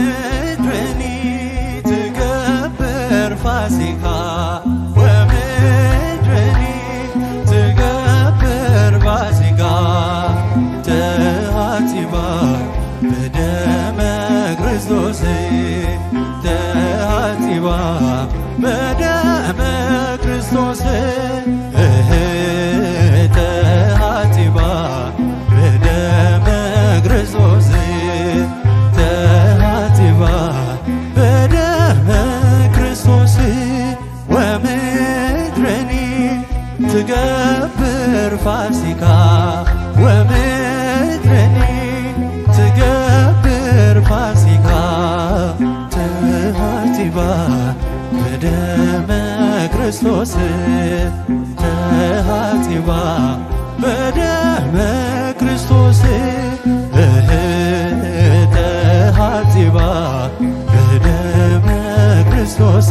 ومدرني تكبر فاسقة، ومدرني تكبر فاسقة، تهاتبا بدم ክርስቶስ፣ ተሃጺባ በደመ ክርስቶስ፣ እህ፣ ተሃጺባ በደመ ክርስቶስ፣ ተሃጺባ በደመ ክርስቶስ፣ ወምድርኒ ትገብር ፋሲካ፣ ወምድርኒ ትገብር ፋሲካ፣ ተሃጺባ በደመ ክርስቶስ፣ ተሃጺባ በደመ ክርስቶስ፣ እህ፣ ተሃጺባ በደመ ክርስቶስ፣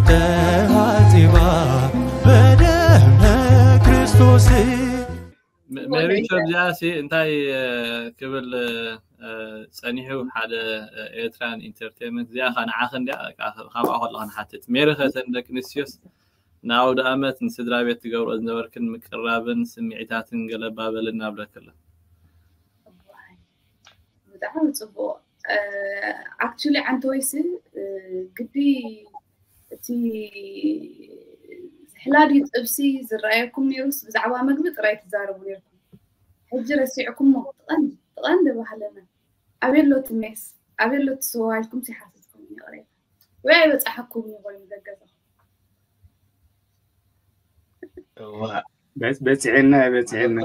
ተሃጺባ በደመ ክርስቶስ። ሜሪ ሾብ፣ እዚኣ ሲ እንታይ ክብል ጸኒሑ? ሓደ ኤርትራን ኢንተርቴንመንት እዚኣ ኸ ንዓኺ እንድያ፣ ካብኣ ከለኹ ንሓትት። ሜሪ ኸ፣ እተን ደቂ ኣንስትዮስ ንኣውደ ኣመት ንስድራ ቤት ትገብርኦ ዝነበርክን ምቅርራብን ስምዒታትን ገለ ባበልና ብለክለ። ብጣዕሚ ጽቡቕ። ኣክቹሊ ዓንተወይሲ ግዲ እቲ ዝሕላዲ ጥብሲ ዝረኣየኩም ነይሩስ ብዛዕባ መግቢ ጥራይ ትዛረቡ ነይርኩም። ሕጂ ረሲዕኩሞ። ትቐንዲ ትቐንዲ ባህልና ኣበይ ኣሎ እቲ ሜስ ኣበይ ኣሎ እቲ ስዋ ኢልኩም ሲሓትትኩም ይቕሬታ ወይ ኣይበጻሐኩም ይኾይኑ ገገዛኹም። በፂዕና በፂዕና።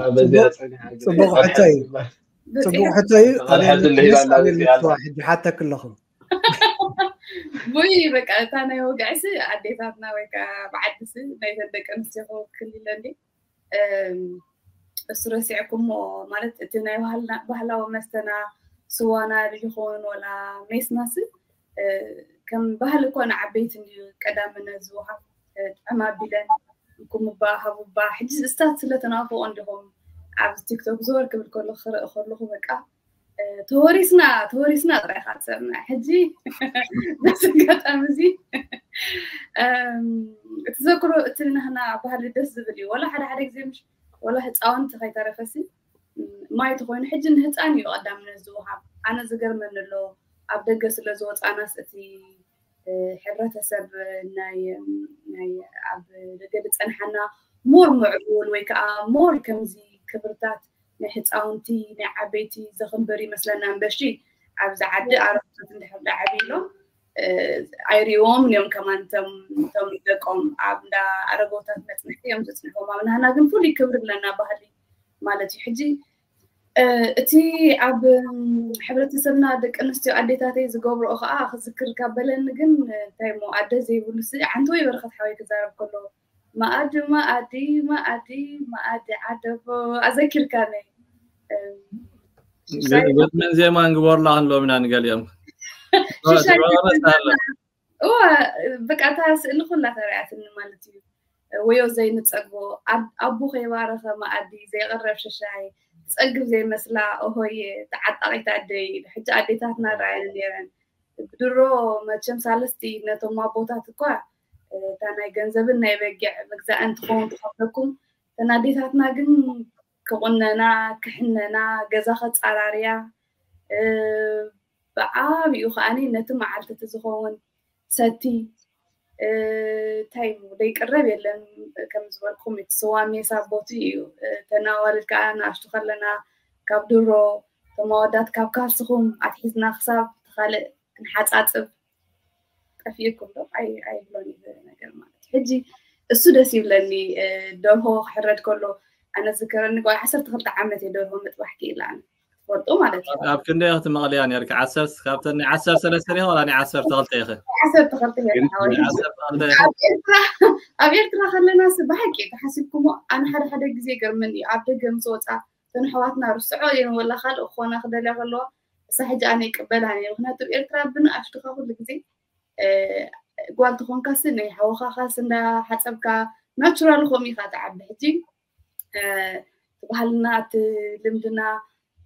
ፅቡቕ ሕቶ እዩ። ፅቡቕ ሕቶ እዩ። ኣበይ ኣሎ እቲ ሜስ ኣበይ ኣሎ እቲ ስዋ ሕጂ ሓተክ ኣለኹ። ቡይ በቃ እታ ናይ ወግዕሲ ኣዴታትና ወይ ከዓ ብዓድሲ ናይተን ደቂ ኣንስትዮ ክውክል ኢለ እንዴ እሱ ረሲዕኩሞ ማለት እቲ ናይ ባህላዊ መስተና ስዋና ይኸውን ወላ ሜስናስ ከም ባህሊ እኮ ንዓበይቲ እንድዩ ቀዳምነት ዝወሃብ። ጥዕም ኣቢለን እንኩምባ ሃቡባ ሕጂ እስታት ስለተናፍቆ እንዲኹም ኣብ ቲክቶክ ዞር ክብል ከሎ ክርኢ ከለኹ በቃ ተወሪስና ተወሪስና ጥራይ ኢኻ ትሰምዕ። ሕጂ በዚ ኣጋጣሚ እዚ እቲ ዘክሮ እቲ ናህና ባህሊ ደስ ዝብል እዩ። ወላ ሓደ ሓደ ግዜ ምሽ ወላ ህፃውንቲ ከይተረፈሲ ማይ ተኮይኑ ሕጂ ንህፃን እዩ ቀዳምነት ዝወሃብ። ኣነ ዝገርመኒ ኣሎ ኣብ ደገ ስለ ዝወፃናስ እቲ ሕብረተሰብ ናይ ናይ ኣብ ደገ ዝፀንሓና ሞር ምዕቡል ወይ ከዓ ሞር ከምዚ ክብርታት ናይ ህፃውንቲ ናይ ዓበይቲ ዘኽብር ይመስለና እምበሺ ኣብዚ ዓዲ ኣረብታት እንድሕር ዳዓቢ ኢሎም ኣይሪዎም እዮም ከማን ቶም ደቆም ኣብ እንዳ ኣረጎታት መፅንሕቲ እዮም ዘፅንሕዎም ኣብ ናህና ግን ፍሉይ ክብሪ ኣለና ባህሊ ማለት እዩ ሕጂ እቲ ኣብ ሕብረተሰብና ደቂ ኣንስትዮ ኣዴታተይ ዝገብርኦ ከዓ ክዝክር ካብ በለኒ ግን እንታይ ሞ ኣደ ዘይብሉ ስ ዓንተወይ በረኸት ሓወይ ክዛረብ ከሎ መኣዲ መኣዲ መኣዲ መኣዲ ዓደቦ ኣዘኪርካኒ ግጥምን ዜማን ግበሩላ ክንብሎም ኢና ንገሊኦም እዋ በቃ እታ ስእሊ ኩላ ተሪኣትኒ ማለት እዩ ወዮ ዘይንፀግቦ ኣቦ ከይባረኸ መኣዲ ዘይቐረብ ሽሻይ ትፀግብ ዘይመስላ ኦሆየ ተዓጣቂት ኣደይ ሕጂ ኣዴታትና ረኣየን ነይረን ብድሮ መቸም ሳልስቲ ነቶም ኣቦታት እኳ እታ ናይ ገንዘብን ናይ በጊዕ ምግዛእን ትኸውን ትኸፍለኩም እተን ኣዴታትና ግን ክቑነና ክሕነና ገዛ ከፃራርያ ብዓብኡ ከዓኒ ነቲ መዓልቲ እቲ ዝኸውን ሰቲ እንታይ ዘይቅረብ የለን ከም ዝበልኩም እቲ ስዋ ሜሳ ቦቲ እዩ ተናዋልድ ከዓ ንኣሽቱ ከለና ካብ ድሮ ተማወዳት ካብ ካልስኹም ኣትሒዝና ክሳብ ካልእ ክንሓፃፅብ ጠፊእኩም ዶ ኣይብሎን እዩ ነገር ማለት ሕጂ እሱ ደስ ይብለኒ ደርሆ ክሕረድ ከሎ ኣነ ዝከረኒ ጓል ዓሰርተ ክልተ ዓመት እየ ደርሆ ምጥባሕ ክኢላ ኣነ ትፈልጡ ማለት እዩ ኣብ ክንደይ ክትመቕልያ ነርኪ ዓሰርተ ካብተን ናይ ዓሰርተ ሰለስተ ዲኺ ወላ ናይ ዓሰርተ ክልተ ኢኺ ዓሰርተ ክልተ እየ ሓወይ ኣብ ኤርትራ ኣብ ኤርትራ ከለና ስ ብሓቂ ተሓሲብኩሞ ኣነ ሓደ ሓደ ግዜ ገርመኒ እዩ ኣብ ደገ ምስ ወፃ እተን ኣሕዋትና ርስዖ እየን ወላ ካልእ ክኾና ክደልያ ከለዋ እሳ ሕጂ ኣነ ይቅበላን እየ። ምክንያቱ ኤርትራ ብንኣሽቱኻ ኩሉ ግዜ እ፣ ጓል ተኾንካሲ ናይ ሓወኻኻስ እንዳ ሓፀብካ ናቹራል ኾም ኢኻ ትዓቢ። ሕጂ እ፣ እቲ ባህልና እቲ ልምድና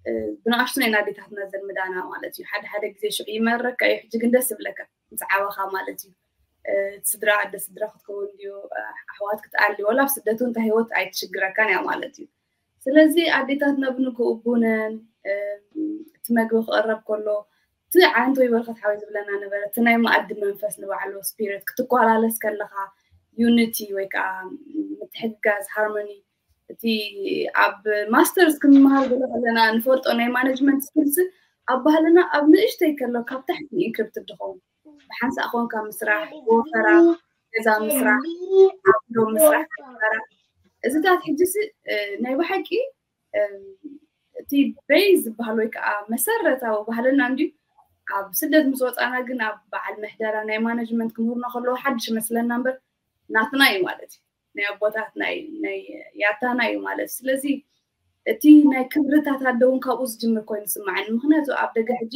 እ፣ ብንኣሽቱ ናይ ኣዴታትና ዘልምዳና ማለት እዩ። ሓደ ሓደ ግዜ ሽዑ ይመረካ እዩ፣ ሕጂ ግን ደስ ይብለካ ምስ ዓበኻ ማለት እዩ። እ፣ ስድራ ኣደ ስድራ ክትከውን ድዩ እ፣ ኣሕዋት ክትኣሊ ወላ ኣብ ስደት እውን እንታይ ህይወት ኣይትሽግረካን እያ ማለት እዩ። ስለዚ ኣዴታትና ብንግኡ ቡነን እ፣ እቲ መግቢ ክቕረብ ከሎ እቲ ዓንቶ ይበርኸት ሓወይ ዝብለና ነበረ። እቲ ናይ መኣዲ መንፈስ ንባዕሉ ስፒሪት ክትኮላለስ ከለኻ ዩኒቲ ወይ ከዓ ምትሕግጋዝ ሃርሞኒ እቲ ኣብ ማስተርስ ክንመሃር ገለ ከለና ንፈልጦ ናይ ማኔጅመንት ስኪልስ ኣብ ባህልና ኣብ ንእሽተይ ከሎ ካብ ታሕቲ ኢንክሪፕትድ ዝኸውን ብሓንሳእ ኮንካ ምስራሕ ብወፈራ ገዛ ምስራሕ ዓብዶ ምስራሕ ከበራ እዚታት ሕጂስ እ፣ ናይ ብሓቂ እ፣ እቲ ቤዝ ዝበሃል ወይ ከዓ መሰረታዊ ባህልና እንድዩ ኣብ ስደት ምስ ወፃና ግን ኣብ በዓል ምሕደራ ናይ ማኔጅመንት ክምህሩና ከለዉ ሓድሽ መስለና እምበር ናትና እዩ ማለት እዩ ናይ ኣቦታትና እዩ ናይ ያታና እዩ ማለት ስለዚ እቲ ናይ ክብርታት ኣደ እውን ካብኡ ዝጅምር ኮይኑ ስማዓኒ ምክንያቱ ኣብ ደገ ሕጂ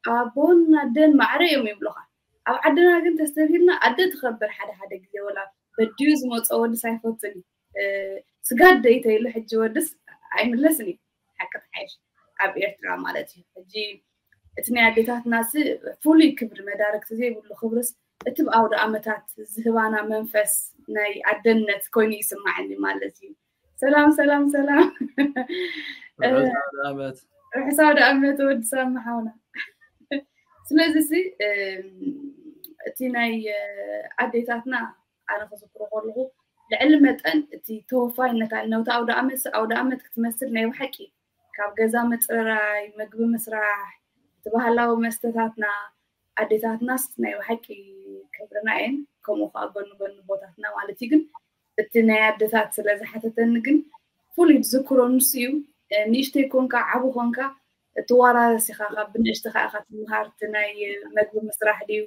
ኣቦን ኣደን ማዕረ እዮም ይብሉካ ኣብ ዓድና ግን ተስተብሂልና ኣደ ትኸብር ሓደ ሓደ ግዜ ወላ በድዩ ዝመፀ ወድስ ኣይፈትን እዩ ስጋት ደይተይሉ ሕጂ ወድስ ኣይምለስን እዩ ሓቂ ተሓይሽ ኣብ ኤርትራ ማለት እዩ ሕጂ እቲ ናይ ኣዴታትና ሲ ፍሉይ ክብሪ መዳርግቲ ዘይብሉ ክብርስ እቲ ብኣውደ ኣመታት ዝህባና መንፈስ ናይ ኣደነት ኮይኑ ይስማዓኒ ማለት እዩ ሰላም ሰላም ሰላም ርሑስ ኣውደ ኣመት ርሑስ ኣውደ ኣመት ወዲ ሳሚ ሓውና ስለዚ ሲ እቲ ናይ ኣዴታትና ኣነ ክዝክሮ ከለኹ ልዕሊ መጠን እቲ ተወፋይነት ነውቲ ኣውደ ኣመት ኣውደ ኣመት ክትመስል ናይ ብሓቂ ካብ ገዛ ምፅርራይ ምግቢ ምስራሕ እቲ ባህላዊ መስተታትና ኣዴታትናስ ናይ ብሓቂ ክብርና እየን ከምኡ ከዓ ጎኒ ጎኒ ቦታትና ማለት እዩ ግን እቲ ናይ ኣዴታት ስለ ዝሓተተኒ ግን ፍሉይ ዝዝክሮ ንሱ እዩ ንእሽተይ ኮንካ ዓቡ ኮንካ እትዋራረስ ኢኻ ካብ ብንእሽትኻ ኢኻ ትምሃር እቲ ናይ መግቢ ምስራሕ ድዩ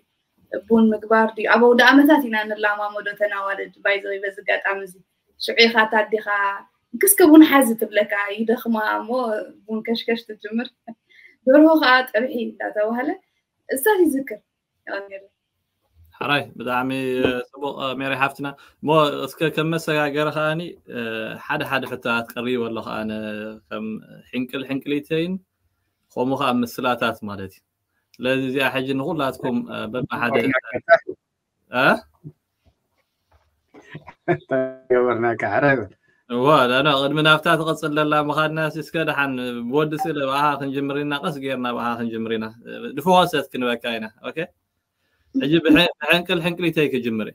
ቡን ምግባር ድዩ ኣብ ኣውደ ኣመታት ኢና ንላማመዶ ተናዋልድ ባይዘ በዚ ኣጋጣሚ እዚ ሽዑ ኢኻ ታዲኻ ክስከ ቡን ሓዚ ትብለካ ይደኽማ እሞ ቡን ከሽከሽ ትጅምር ደርሆ ከዓ ጠብሒ እንዳተባሃለ እሳት ይዝክር ሓራይ ብጣዕሚ ፅቡቅ ሜሪ ሓፍትና እሞ እስከ ከም መሰጋገሪ ከዓኒ ሓደ ሓደ ሕቶታት ቀሪቡ ኣሎ ከዓነ ከም ሕንቅል ሕንቅሊተይን ከምኡ ከዓ ምስላታት ማለት እዩ ስለዚ እዚኣ ሕጂ ንኩላትኩም በብሓደ ገበርናካ ሕረ እዋ ዳና ቅድሚ ናብታ ትቐፅል ዘላ ምኻድና እስከ ደሓን ብወዲ ስእለ ብኣኻ ክንጅምር ኢና ቀስ ጌርና ብኣኻ ክንጅምር ኢና ድፍዋሰት ክንበካ ኢና ኦኬ ሕጂ ብሕንቅል ሕንቅሊተይ ክጅምር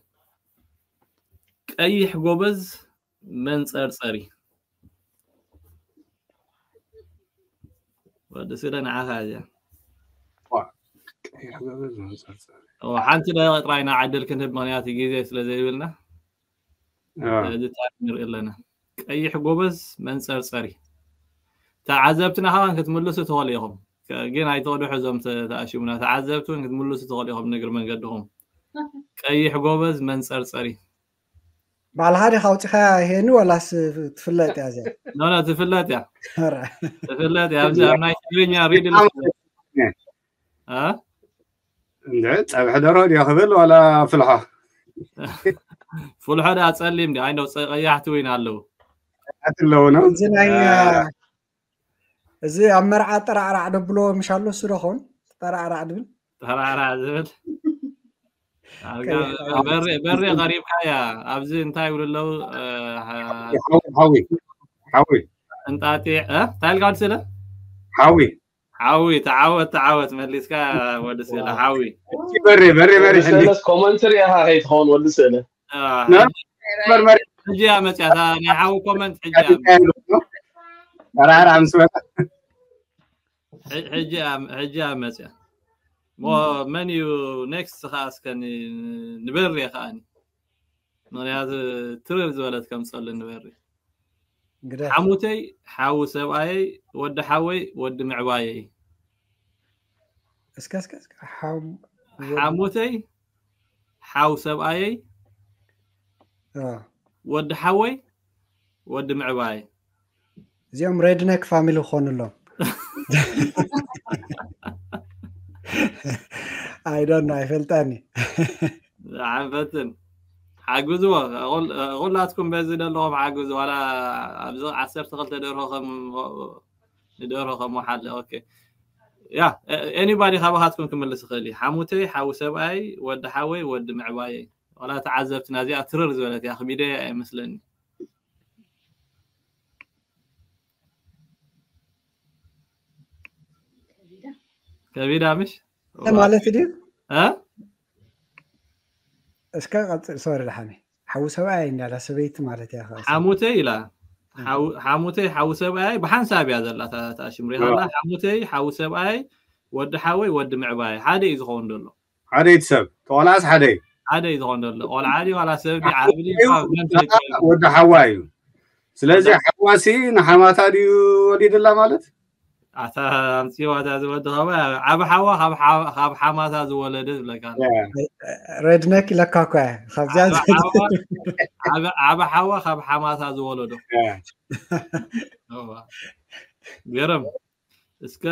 ቀይሕ ጎበዝ መንፀርፀሪ ወዲ ስለ ንዓኻ እዚኣ ሓንቲ ደቂቕ ጥራይ ንዓድል ክንህብ ምክንያት ግዜ ስለ ዘይብልና እዚ ታሪክ ንርኢ ኣለና ቀይሕ ጎበዝ መንፀርፀሪ ተዓዘብትና ከማን ክትምልሱ ትኽእሉ ኢኹም ግን ኣይተቕድሑ እዞም ተኣሽሙና ተዓዘብቲ እውን ክትምልሱ ትኽእሉ ኢኹም ንግር መንገድኹም ቀይሕ ጎበዝ መንፀርፀሪ በዓል ሓደ ካውፂኻ ሄኒ ዋላስ ትፍለጥ እያ እዚኣ ኖ ትፍለጥ እያ ትፍለጥ እያ ኣብዚ ኣብ ናይ ትግርኛ ሪድል እንደ ፀብሒ ደሮ ድዮ ክብል ዋላ ፍልሖ ፍልሖ ዳ ፀሊም ዲ ኣይነው ቀያሕቲ ወይን ኣለዉ ኣለዉ ነው እዚ ናይ እዚ ኣብ መርዓ ጠራዕራዕ ደብሎ ምሽ ኣሎ እሱ ዶ ኸውን ጠራዕራዕ ድብል ጠራዕራዕ ዝብል በሬ ቀሪብካ እያ ኣብዚ እንታይ ይብሉ ኣለዉ ሓዊ ሓዊ እንጣጢዕ እንታይ ኢልካ ወዲ ስለ ሓዊ ሓዊ ተዓወት ተዓወት መሊስካ ወዲ ስለ ሓዊ በሬ በሬ በሬ ኮመንትሪ ኢኻ ከይትኸውን ወዲ ስእለ ሕጂ እያ መፅያ ናይ ሓዊ ኮመንት ሕጂ ተራራ ምስ መጣ ሕጂ እያ መፅያ መን እዩ ኔክስት ከዓ እስከ ንበሪ ከዓኒ ምክንያቱ ትርር ዝበለት ከምፀሉ ንበሪ ሓሙተይ ሓዊ ሰብኣየይ ወዲ ሓወይ ወዲ ምዕባየይ እስከ እስከ ሓሙተይ ሓው ሰብኣየይ ወዲ ሓወይ ወዲ ምዕባይ እዚኦም ሬድነክ ፋሚሊ ክኾኑ ኣለዎም። I don't know, ኣይፈልጣኒ። ዓንፈትን ሓግዝዎ። ኩላትኩም በዚ ዘለኹም ሓግዝ። ዋላ ኣብዚ ዓሰርተ ክልተ ደርሆ ከም ንደርሆ ከም ሓለ። ኦኬ፣ ያ፣ ኤኒባዲ ካባኻትኩም ክምልስ ይኽእል እዩ። ሓሙተይ፣ ሓው ሰብኣይ፣ ወዲ ሓወይ፣ ወዲ ምዕባየይ። ዋላ ተዓዘብትና እዚኣ ትርር ዝበለት እያ፣ ክቢደ ኣይመስለኒ። ከቢዳ ምሽ ማለት ድዩ? እ እስከ ቀጽል። ሶሪ፣ ደሓኒ ሓው ሰብኣይ እንዳላ ሰበይቲ ማለት እያ። ሓሙተይ ኢላ። ሓሙተይ ሓው ሰብኣይ ብሓንሳብ እያ ዘላ። ታሽምሪ ላ ሓሙተይ ሓው ሰብኣይ፣ ወዲ ሓወይ፣ ወዲ ምዕባይ ሓደ እዩ ዝኸውን ዘሎ። ሓደይቲ ሰብ ተቆላስ ሓደ እዩ። ሓደ እዩ ዝኸውን ዘሎ። ቆልዓ ድዩ ዋላ ሰብ ድዩ ዓብሊ ወዲ ሓዋ እዩ። ስለዚ ሓዋሲ ንሓማታ ድዩ ወሊድላ ማለት? ኣታ ኣምፅዋ እዛ ዝወዲ ከማ ዓብ ሓዋ ካብ ሓማታ ዝወለደ ዝብለካ። ሬድነክ ኢለካ እኮ እያ። ካብዚኣ ዓብ ሓዋ ካብ ሓማታ ዝወለዶ። ገርም። እስከ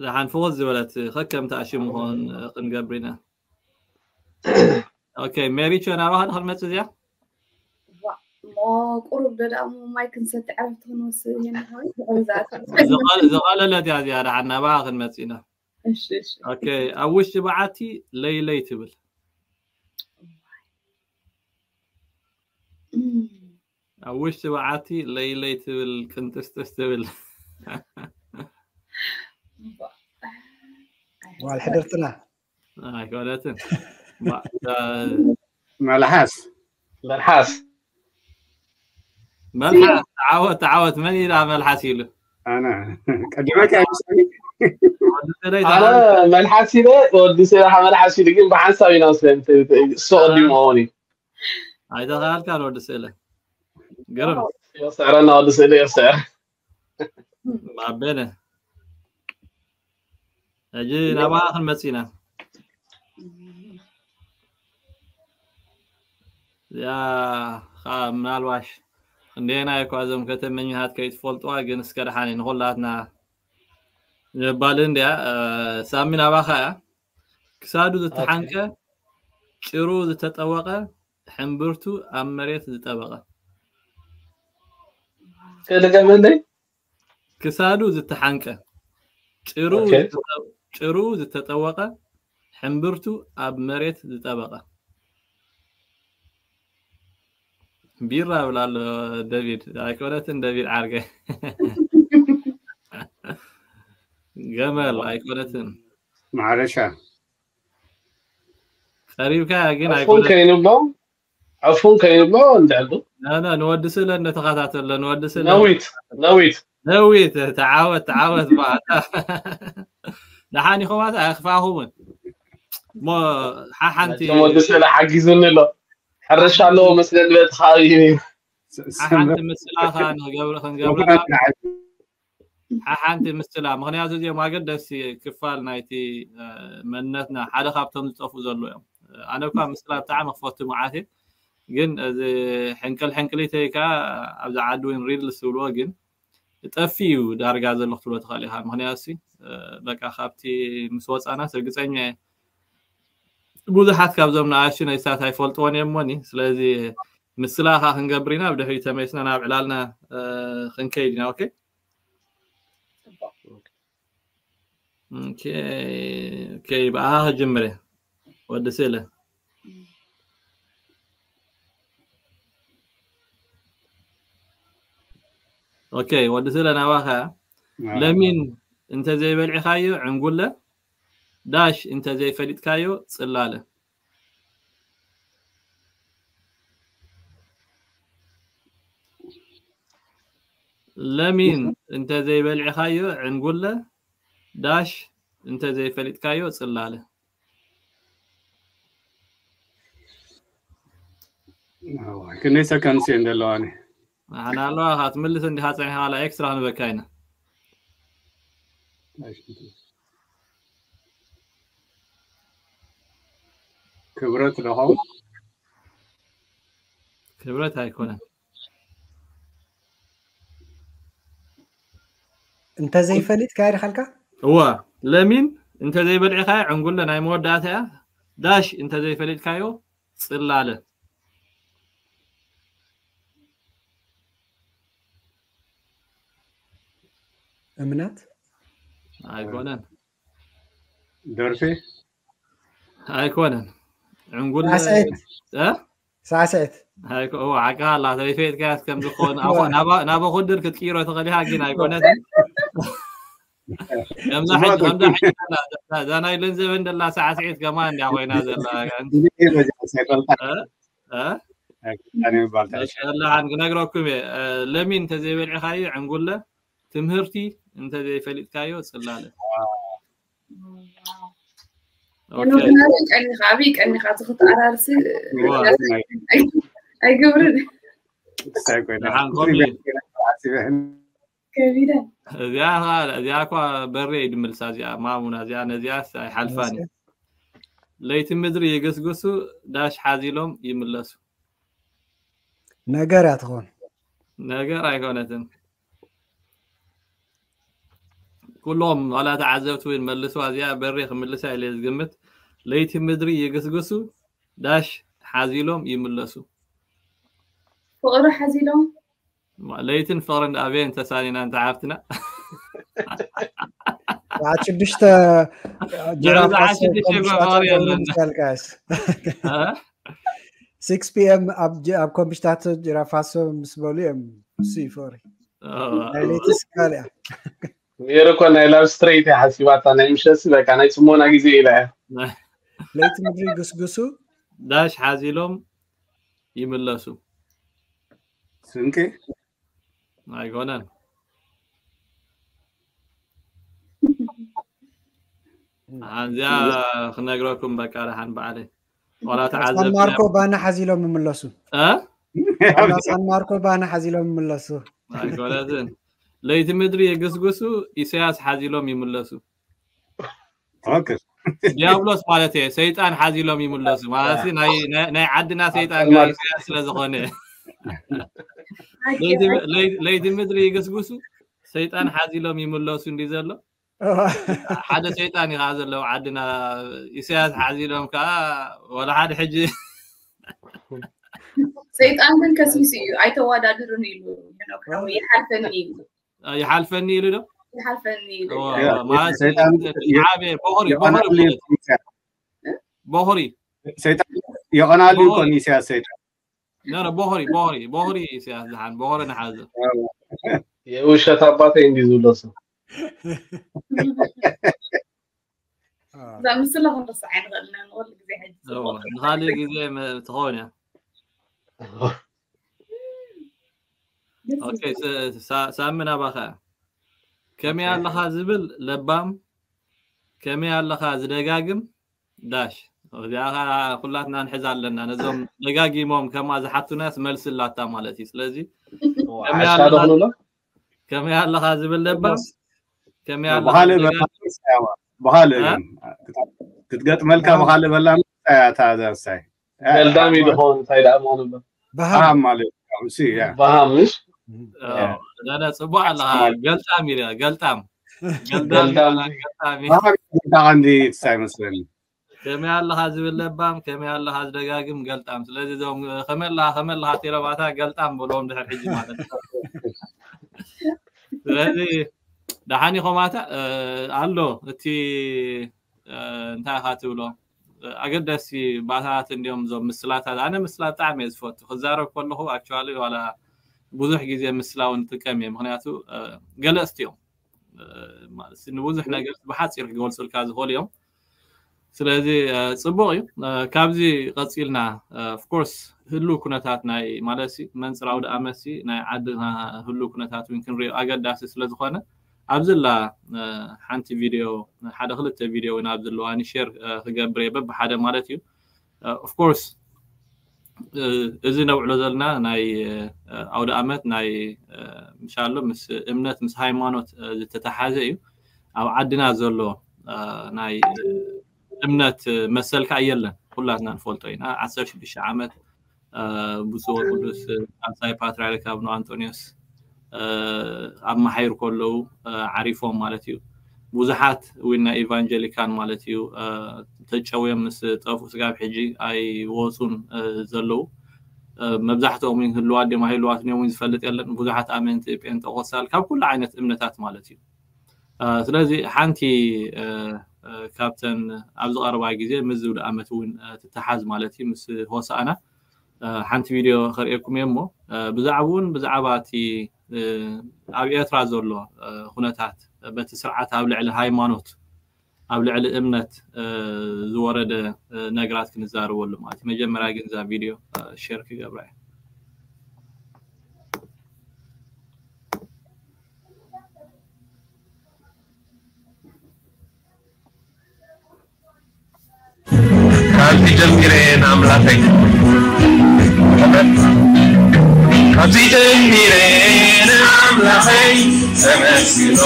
ደሓን ፍኹስ ዝበለት ከከም ተኣሽሙ ክኾን ክንገብር ኢና። ኦኬ፣ ሜሪቾ ናባኻ ዶ ክንመጽእ እዚኣ? ቁሩብ ደዳሙ ማይ ክንሰቲ ዕረፍቲ ክንወስድ ኢና። ዝቐለለት እያ እዚኣ። ደሓን ናባኻ ክንመጽእ ኢና። ኦኬ፣ ኣብ ውሽጢ በዓቲ ለይለይ ትብል። ኣብ ውሽጢ በዓቲ ለይለይ ትብል ቅንጥስጥስ ትብል። ጓል ሕድርትና ኣይኮነትን። መልሓስ መልሓስ መልሓስ ዓወት ዓወት። መን ኢላ መልሓስ ኢሉ? ኣነ ቀዲመካ ይመስለኒ። ኣነ መልሓስ ኢለ ወዲ ስለ መልሓስ ኢሉ ግን ብሓንሳብ ኢና ስለ እሱ ቀዲሙ ሆኒ ኣይተኻልካን ወዲ ስእለ። ገርም ይወስዕረና ወዲ ስእለ ይወስዕ። ኣበነ ሕጂ ናባኻ ክንመጽእ ኢና። እዚኣ ከዓ ምናልባሽ ክንደየናይ እኳ እዞም ከተመኛታት ከይትፈልጥዋ ግን እስከ ደሓን ንኹላትና ንምባል እንድያ። ሳሚ ናባኻ እያ። ክሳዱ ዝተሓንቀ ጭሩ ዝተጠወቐ ሕምብርቱ ኣብ መሬት ዝጠበቐ ከደገመለይ ክሳዱ ዝተሓንቀ ጭሩ ጭሩ ዝተጠወቐ ሕምብርቱ ኣብ መሬት ዝጠበቐ ቢራ ብላ ኣሎ ደቪድ። ኣይኮነትን ደቪድ ዓርገ ገመል ኣይኮነትን ማረሻ ቀሪብካ ግን ዕፉን ከይንብሎ ዕፉን ከይንብሎ እንድዕዱ ንወዲ ስእለ እንደተኸታተለ ንወዲ ስእለ ነዊት ነዊት ነዊት ተዓወት ተዓወት ባታ ደሓን ኢኹም ኣኽፋኹምን እሞ ሓሓንቲ ወዲ ስእለ ሓጊዙኒ ኣሎ ሕርሻ ኣለዎ መስለኒ በቲ ከባቢ ሓሓንቲ ምስላ ከዓ ንገብረ ክንገብረ ሓሓንቲ ምስላ ምክንያቱ እዚኦም ኣገደስቲ ክፋል ናይቲ መንነትና ሓደ ካብቶም ዝጠፍኡ ዘሎ እዮም። ኣነ እኳ ምስላ ብጣዕሚ ክፈቱ መዓት ግን እዚ ሕንቅል ሕንቅሊተይ ከዓ ኣብዚ ዓዲ እውን ሪል ዝብልዎ ግን ጠፊ እዩ ዳርጋ ዘሎ ክትብሎ ትኽእል ኢኻ። ምክንያቱ በቃ ካብቲ ምስ ወፃናስ ርግፀኛ ብዙሓት ካብዞም ንኣሽቱ ነይስታት ኣይፈልጥዎን እዮም ሞኒ ስለዚ ምስላ ከዓ ክንገብር ኢና ብድሕሪ ተመሊስና ናብ ዕላልና ክንከይድ ኢና። ኦኬ ብኣኻ ክጅምር እየ ወዲ ስእለ ኦኬ ወዲ ስእለ ናባኻ ለሚን እንተዘይበልዕኻዮ ዕንጉለ ዳሽ እንተዘይፈሊጥካዮ ፅላለ ለሚን እንተዘይበልዕኻዮ ዕንጉለ ዳሽ እንተዘይፈሊጥካዮ ፅላለ ክንደይ ሰከንድስ እየን ዘለዋኒ ኣነ ኣለዋ ክትምልስ እንዲኻ ፀኒሕካ ላ ኤክስትራ ክንበካ ኢና ክብረት ደኸው ክብረት ኣይኮነን። እንተዘይፈሊጥካ ይድኻልካ? እዋ፣ ለሚን እንተዘይበልዕኻ ዕንጉለ ናይ መወዳእታ እያ። ዳሽ እንተዘይፈሊጥካዮ ጽላለ። እምነት ኣይኮነን። ደርፊ ኣይኮነን። ዕንጉለ ሳዕስዒት። እ? ሳዕስዒት። ኣይኮ እዋ፣ ሓቅኻ ኣላ። ዘይፈየጥካያስ ከም ዝኾነ ኣኾ ናባ ናባ ኹድር ክትቅይሮ ትኽእል ኢኻ፣ ግን ኣይኮነትን። ከምዛ ሕጂ ከምዛ ሕጂ ዘላ እዛ ናይ ለንዘበን ደላ ሳዕስዒት ከማን እንዲያ ኮይና ዘላ። እ? እ? ኣይፈልጣን ይባል መሸላሓን ክነግረኩም እየ። እ፣ ለሚን እንተዘይበልዕኻዮ ዕንጉለ ትምህርቲ እንተዘይፈሊጥካዮ ጽላለ። ኦኬ። ኖርማል ቀኒኻ፣ ኣበይ ቀኒኻ፣ እዚ ክትኣራርሲ ዋ። ኣይገብርን። ደሓን ኮሚ። ከቢደ። እዚኣ ኸ-፣ እዚኣ እኳ በሬ እዩ ድምልሳ፣ እዚኣ ማሙና፣ እዚኣ ነዚኣስ ኣይሓልፋን እዩ። ለይቲ ምድሪ ይግስግሱ፣ ዳሽ ሓዚሎም ይምለሱ። ነገር እያ ትኾን። ነገር ኣይኮነትን። ኩሎም ዋላ ተዓዘብቲ እውን መልስዋ፣ እዚኣ በሬ ክምልሳ ኢለ ዝግምት። ለይቲ ምድሪ ይግስግሱ፣ ዳሽ ሓዚሎም ይምለሱ። ፍቕሪ ሓዚሎም። ለይትን ፍቕርን ኣበየን ተሳኒና እንተ ሓፍትና? ሰዓት ሽዱሽተ ድሕሪ ሰዓት ሽዱሽተ እኮ ፍቕሪ የለን። ይቻልካስ እ? ሲክስ ፒ ኤም ኣብ ጅ- ኣብ ኮምፒሽታቶ ጅራፋሶ ምስ በሉ እዮም። እሱ እዩ ፍቕሪ። ኦ፣ ናይ ለይቲ ስካል እያ። ሜሪ እኮ ናይ ላቭ ስትሬት እያ ሓሲባታ፣ ናይ ምሸትሲ በቃ ናይ ጽሞና ግዜ ኢላ እያ። ለይቲ ምድሪ ይግስግሱ። ዳሽ ሓዚሎም ይምለሱ። ስንቂ ኣይኮነን። ኣዚኣ ክነግረኩም በቃ ደሓን በዓለይ። ዋላ ሳን ተዓዘብቲ ማርኮ ባና ሓዚሎም ይምለሱ። እ? ዋላ ሳን ማርኮ ባና ሓዚሎም ይምለሱ። ኣይኮነትን። ለይቲ ምድሪ የግስግሱ፣ ኢሳያስ ሓዚሎም ይምለሱ። ኦኬ ዲያብሎስ ማለት እየ፣ ሰይጣን ሓዚሎም ይምለሱ ማለት ናይ ናይ- ናይ ዓድና ሰይጣን ጋር ኢሳያስ ስለ ዝኾነ። ለይቲ- ለይ- ለይቲ ምድሪ ይግስግሱ፣ ሰይጣን ሓዚሎም ይምለሱ እንዲ ዘሎ ሓደ ሰይጣን እዩ ከዓ ዘለዎ ዓድና። ኢሳያስ ሓዚሎም ከዓ ወላ ሓደ ሕጂ ሰይጣን ግን ከሲሱ እዩ፣ ኣይተዋዳድሩን ኢሉ። ሄኖክ ሓወይ፣ ይሓልፈኒ ኢሉ። ይሓልፈኒ ኢሉ ዶ? ይሓልፈኒ ኢሉ። እዋ፣ ያ፣ ማለት ሰይጣን ዓበየ ቦኽሪ ቦኽሪ የቐናሉ ማለት ቦኽሪ ሰይጣን ነረ ቦኽሪ ቦኽሪ ቦኽሪ ኢሳያስ ዝሓን ቦኽሪ ንሓዘ። የውሸት ኣባተይ እንዲ ዝብሎ ሰብ እዛ ምስላ ክንረስዓ ኣይንኽእልን ኢና፣ ንኹሉ ግዜ ሕጂ እዋ፣ ጽቡቕ። ንኻሊእ ግዜ መ- ትኸውን እያ። ደስ ኦኬ፣ ይብል። ስ- ሳ- ሳሚ ናባኻ። ከመይ ኣለኻ ዝብል ለባም፣ ከመይ ኣለኻ ዝደጋግም ዳሽ። እዚኣ ኸዓ ኩላትና ንሕዛ ኣለና። ነዞም ደጋጊሞም ከምኣ ዝሓቱናስ መልሲ ኣላታ ማለት እዩ። ስለዚ ከመይ ሓሻ ኣለኻ ዶ ክንብሎ? ከመይ ኣለኻ ዝብል ለባም፣ ከመይ ኣለኻ ብኻልእ ዝደጋግም በላ ብኻልእ እ? ግን ክትገጥመልካ እ? ብኻልእ በላ እያ እታ ዘሳይ ገልዳም እዩ ዝኾን እንታይ ደኣ ምኾኑ እሎ? በሃም በሃም ማለት እዩ። እሱ እያ በሃም ምሽ? እ፣ ዳዳ ጽቡቕ ኣለኻ። ገልጣም ኢለ ገልጣም ገልጣም ገልዳም ይበሃል፣ ገልጣም እዩ። በሃም እዩ። ብጣዕሚ እንዲ ሳይ መስለኒ ከመይ ኣለኻ ዝብል ለባም፣ ከመይ ኣለኻ ዝደጋግም ገልጣም። ስለዚ እዞም ከመይ ኣለኻ ከመይ ኣለኻ ተይሎም ኣታ ገልጣም በልዎም ድሕር ሕጂ ማለት እዩ። ስለዚ ደሓን ኢኹም ኣታ እ፣ ኣሎ እቲ እ፣ እንታይ ኢኻ ትብሎ ኣገደስቲ ባእታታት እንዲዮም እዞም ምስላታት። ኣነ ምስላ ብጣዕሚ እየ ዝፈቱ። ክዛረብ ከለኹ ኣክቹዋሊ ዋላ ብዙሕ ግዜ ምስላ እውን ይጥቀም እየ፣ ምክንያቱ እ፣ ገለጽቲ እዮም። እ፣ ማለት ንብዙሕ ነገር ብሓፂር ክገልፁልካ ዝኽእሉ እዮም። ስለዚ እ፣ ፅቡቅ እዩ። እ፣ ካብዚ ቀፂልና ኦፍኮርስ ህሉ ኩነታት ናይ ማለት ሲ መንፅር ኣውደ ኣመት ሲ ናይ ዓድና ህሉ ኩነታት እውን ክንሪኦ ኣገዳሲ ስለዝኾነ ኣብዚ ላ እ፣ ሓንቲ ቪድዮ ሓደ ክልተ ቪድዮ እውን ኣብዚ ኣለዋኒ ሼር እ፣ ክገብር እየ በብሓደ ማለት እዩ። ኦፍኮርስ እዚ ነውዕሎ ዘለና ናይ እ፣ ኣውደ ኣመት ናይ እ፣ ምሻሎ ምስ እምነት ምስ ሃይማኖት እ፣ ዝተተሓዘ እዩ። ኣብ ዓድና ዘሎ እ፣ ናይ እ፣ እምነት እ፣ መሰል ከዓ የለን። ኩላትና ንፈልጦ ኢና። ዓሰርተ ሽዱሽተ ዓመት ብፁዕ ወቅዱስ ሳልሳይ ፓትርያርክ ኣቡነ ኣንጦንዮስ ኣመሓይሩ ከለዉ ዓሪፎም ማለት እዩ። ብዙሓት እውን ናይ ኢቫንጀሊካን ማለት እዩ ተጨውዮም ምስ ጠፍኡ ስጋብ ሕጂ ኣይወፁን ዘለዉ። መብዛሕትኦም ህልዋት ድዮም ኣይህልዋትን እዮም ዝፈልጥ የለን። ብዙሓት ኣመንቲ ጴንጠቆስታል ካብ ኩሉ ዓይነት እምነታት ማለት እዩ። ስለዚ ሓንቲ ካብተን ኣብዚ ቀረባ ግዜ ምስ ዝብል ኣመት እውን ትተሓዝ ማለት እዩ ምስ ሆሳእና ሓንቲ ቪድዮ ከርእየኩም እየ እሞ ብዛዕባኡ እውን ብዛዕባ እቲ ኣብ ኤርትራ ዘሎ ኩነታት በቲ ስርዓት ኣብ ልዕሊ ሃይማኖት ኣብ ልዕሊ እምነት ዝወረደ ነገራት ክንዛረበሉ ማለት እዩ። መጀመርያ ግን እዛ ቪድዮ ሼር ክገብራ እየ። ካብዚ ጀሚረ ንኣምላኸይ ካብዚ ጀሚረ ንኣምላኸይ ተመስግኖ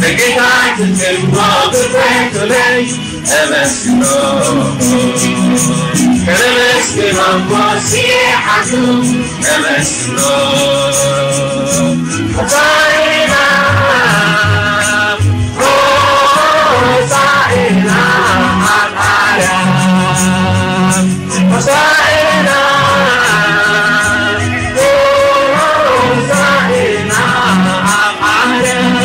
ንጌታ ክትማ ብትሕቱለይ ተመስግኖ ተመስግኖ እሞ ሲሓቱ ተመስግኖ ሆሳዕና ሆሳዕና ኣብ ኣርያም ሆሳዕና ሆሳዕና ኣብ ኣርያም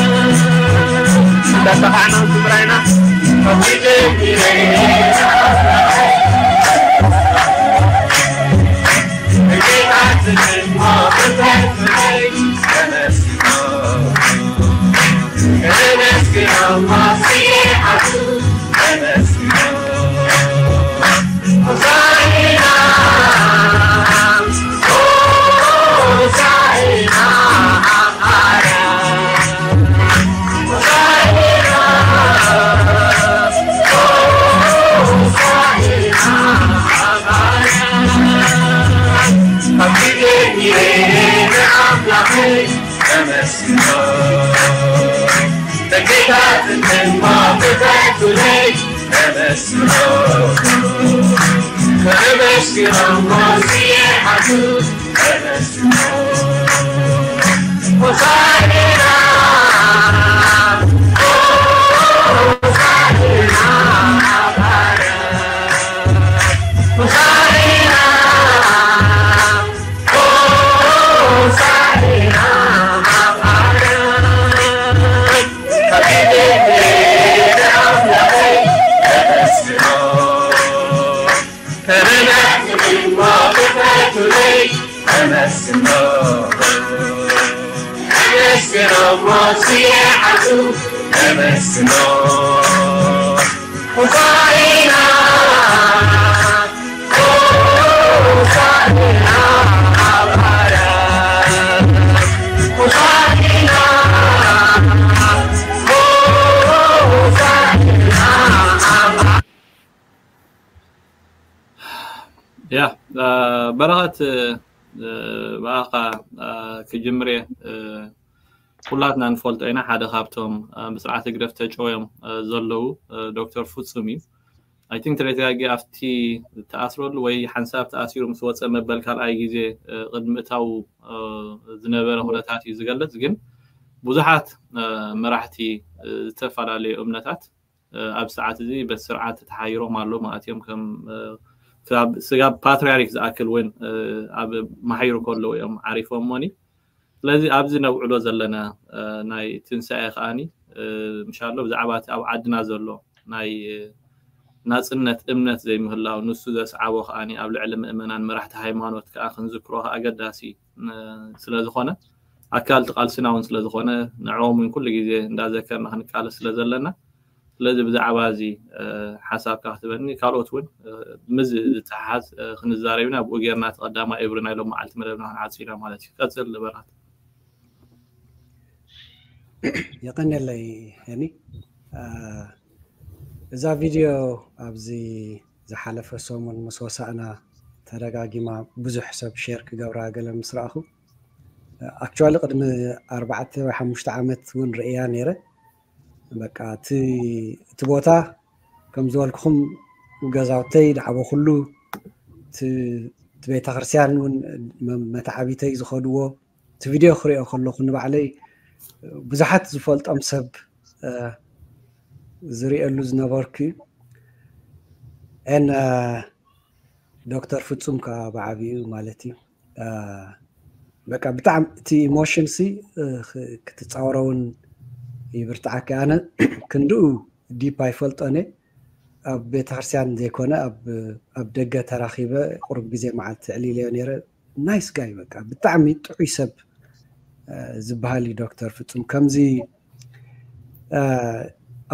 እንዳተኻዕና ትግራይና ያ በረኸት ብኣኻ ክጅምር እየ። ኩላትና ንፈልጦ ኢና ሓደ ካብቶም ብስርዓት ህግደፍ ተጨውዮም ዘለዉ ዶክተር ፍጹም እዩ። I think ተደጋጊ ኣብቲ ተኣስረሉ ወይ ሓንሳብ ተኣሲሩ ምስ ወፀ መበል ካልኣይ ግዜ ቅድሚ እታው ዝነበረ ኩነታት እዩ ዝገልፅ። ግን ብዙሓት መራሕቲ ዝተፈላለዩ እምነታት ኣብ ሰዓት እዚ በቲ ስርዓት ተተሓይሮም ኣለዉ ማለት እዮም። ከም ስጋብ ፓትርያርክ ዝኣክል እውን ኣብ መሓይሩ ከለዉ እዮም ዓሪፎም ሞኒ። ስለዚ ኣብዚ ነብዕሎ ዘለና ናይ ትንሳኤ ከዓኒ ምሻሎ ብዛዕባ እቲ ኣብ ዓድና ዘሎ ናይ ናፅነት እምነት ዘይምህላው ንሱ ዘስዓቦ ከዓኒ ኣብ ልዕሊ ምእመናን መራሕቲ ሃይማኖት ከዓ ክንዝክሮ ከዓ ኣገዳሲ ስለዝኾነ ኣካል እቲ ቃልስና እውን ስለዝኾነ ንዕኦም እውን ኩሉ ግዜ እንዳዘከርና ክንቃለስ ስለዘለና ስለዚ ብዛዕባ እዚ ሓሳብካ ክትበኒ ካልኦት እውን ምዝ ዝተሓሓዝ ክንዛረብ ኢና። ብኡ ጌርና እቲ ቀዳማይ እብሪ ናይ ሎም መዓልቲ መደብና ክንዓጽ ኢና ማለት እዩ። ቀጽል በረኸት። የቐንየለይ ሄኒ። እዛ ቪድዮ ኣብዚ ዝሓለፈ ሰሙን ምስ ወሳእና ተደጋጊማ ብዙሕ ሰብ ሼር ክገብራ ገለ ምስ ረኣኹ ኣክቹዋሊ ቅድሚ ኣርባዕተ ወይ ሓሙሽተ ዓመት እውን ርእያ ነይረ። በቃ እቲ እቲ ቦታ ከም ዝበልኩኹም ገዛውተይ ዳዕቦ ኩሉ እቲ ቤተክርስትያን እውን መተዓቢተይ ዝኸድዎ እቲ ቪድዮ ክሪኦ ከለኹ ንባዕለይ ብዙሓት ዝፈልጦም ሰብ ዝሪእሉ ዝነበርኩ እዩ። ን ዶክተር ፍጹም ከዓ ብዓብኡ ማለት እዩ። በቃ ብጣዕሚ እቲ ኢሞሽን ሲ ክትፃወሮ እውን ይብርትዓካ። ኣነ ክንድኡ ዲፕ ኣይፈልጦን እየ። ኣብ ቤተክርስትያን ዘይኮነ ኣብ ደገ ተራኺበ ቁሩብ ግዜ መዓልቲ ዕሊለዮ ነይረ። ናይስ ጋይ በቃ ብጣዕሚ ጥዑይ ሰብ ዝበሃል እዩ ዶክተር ፍጹም። ከምዚ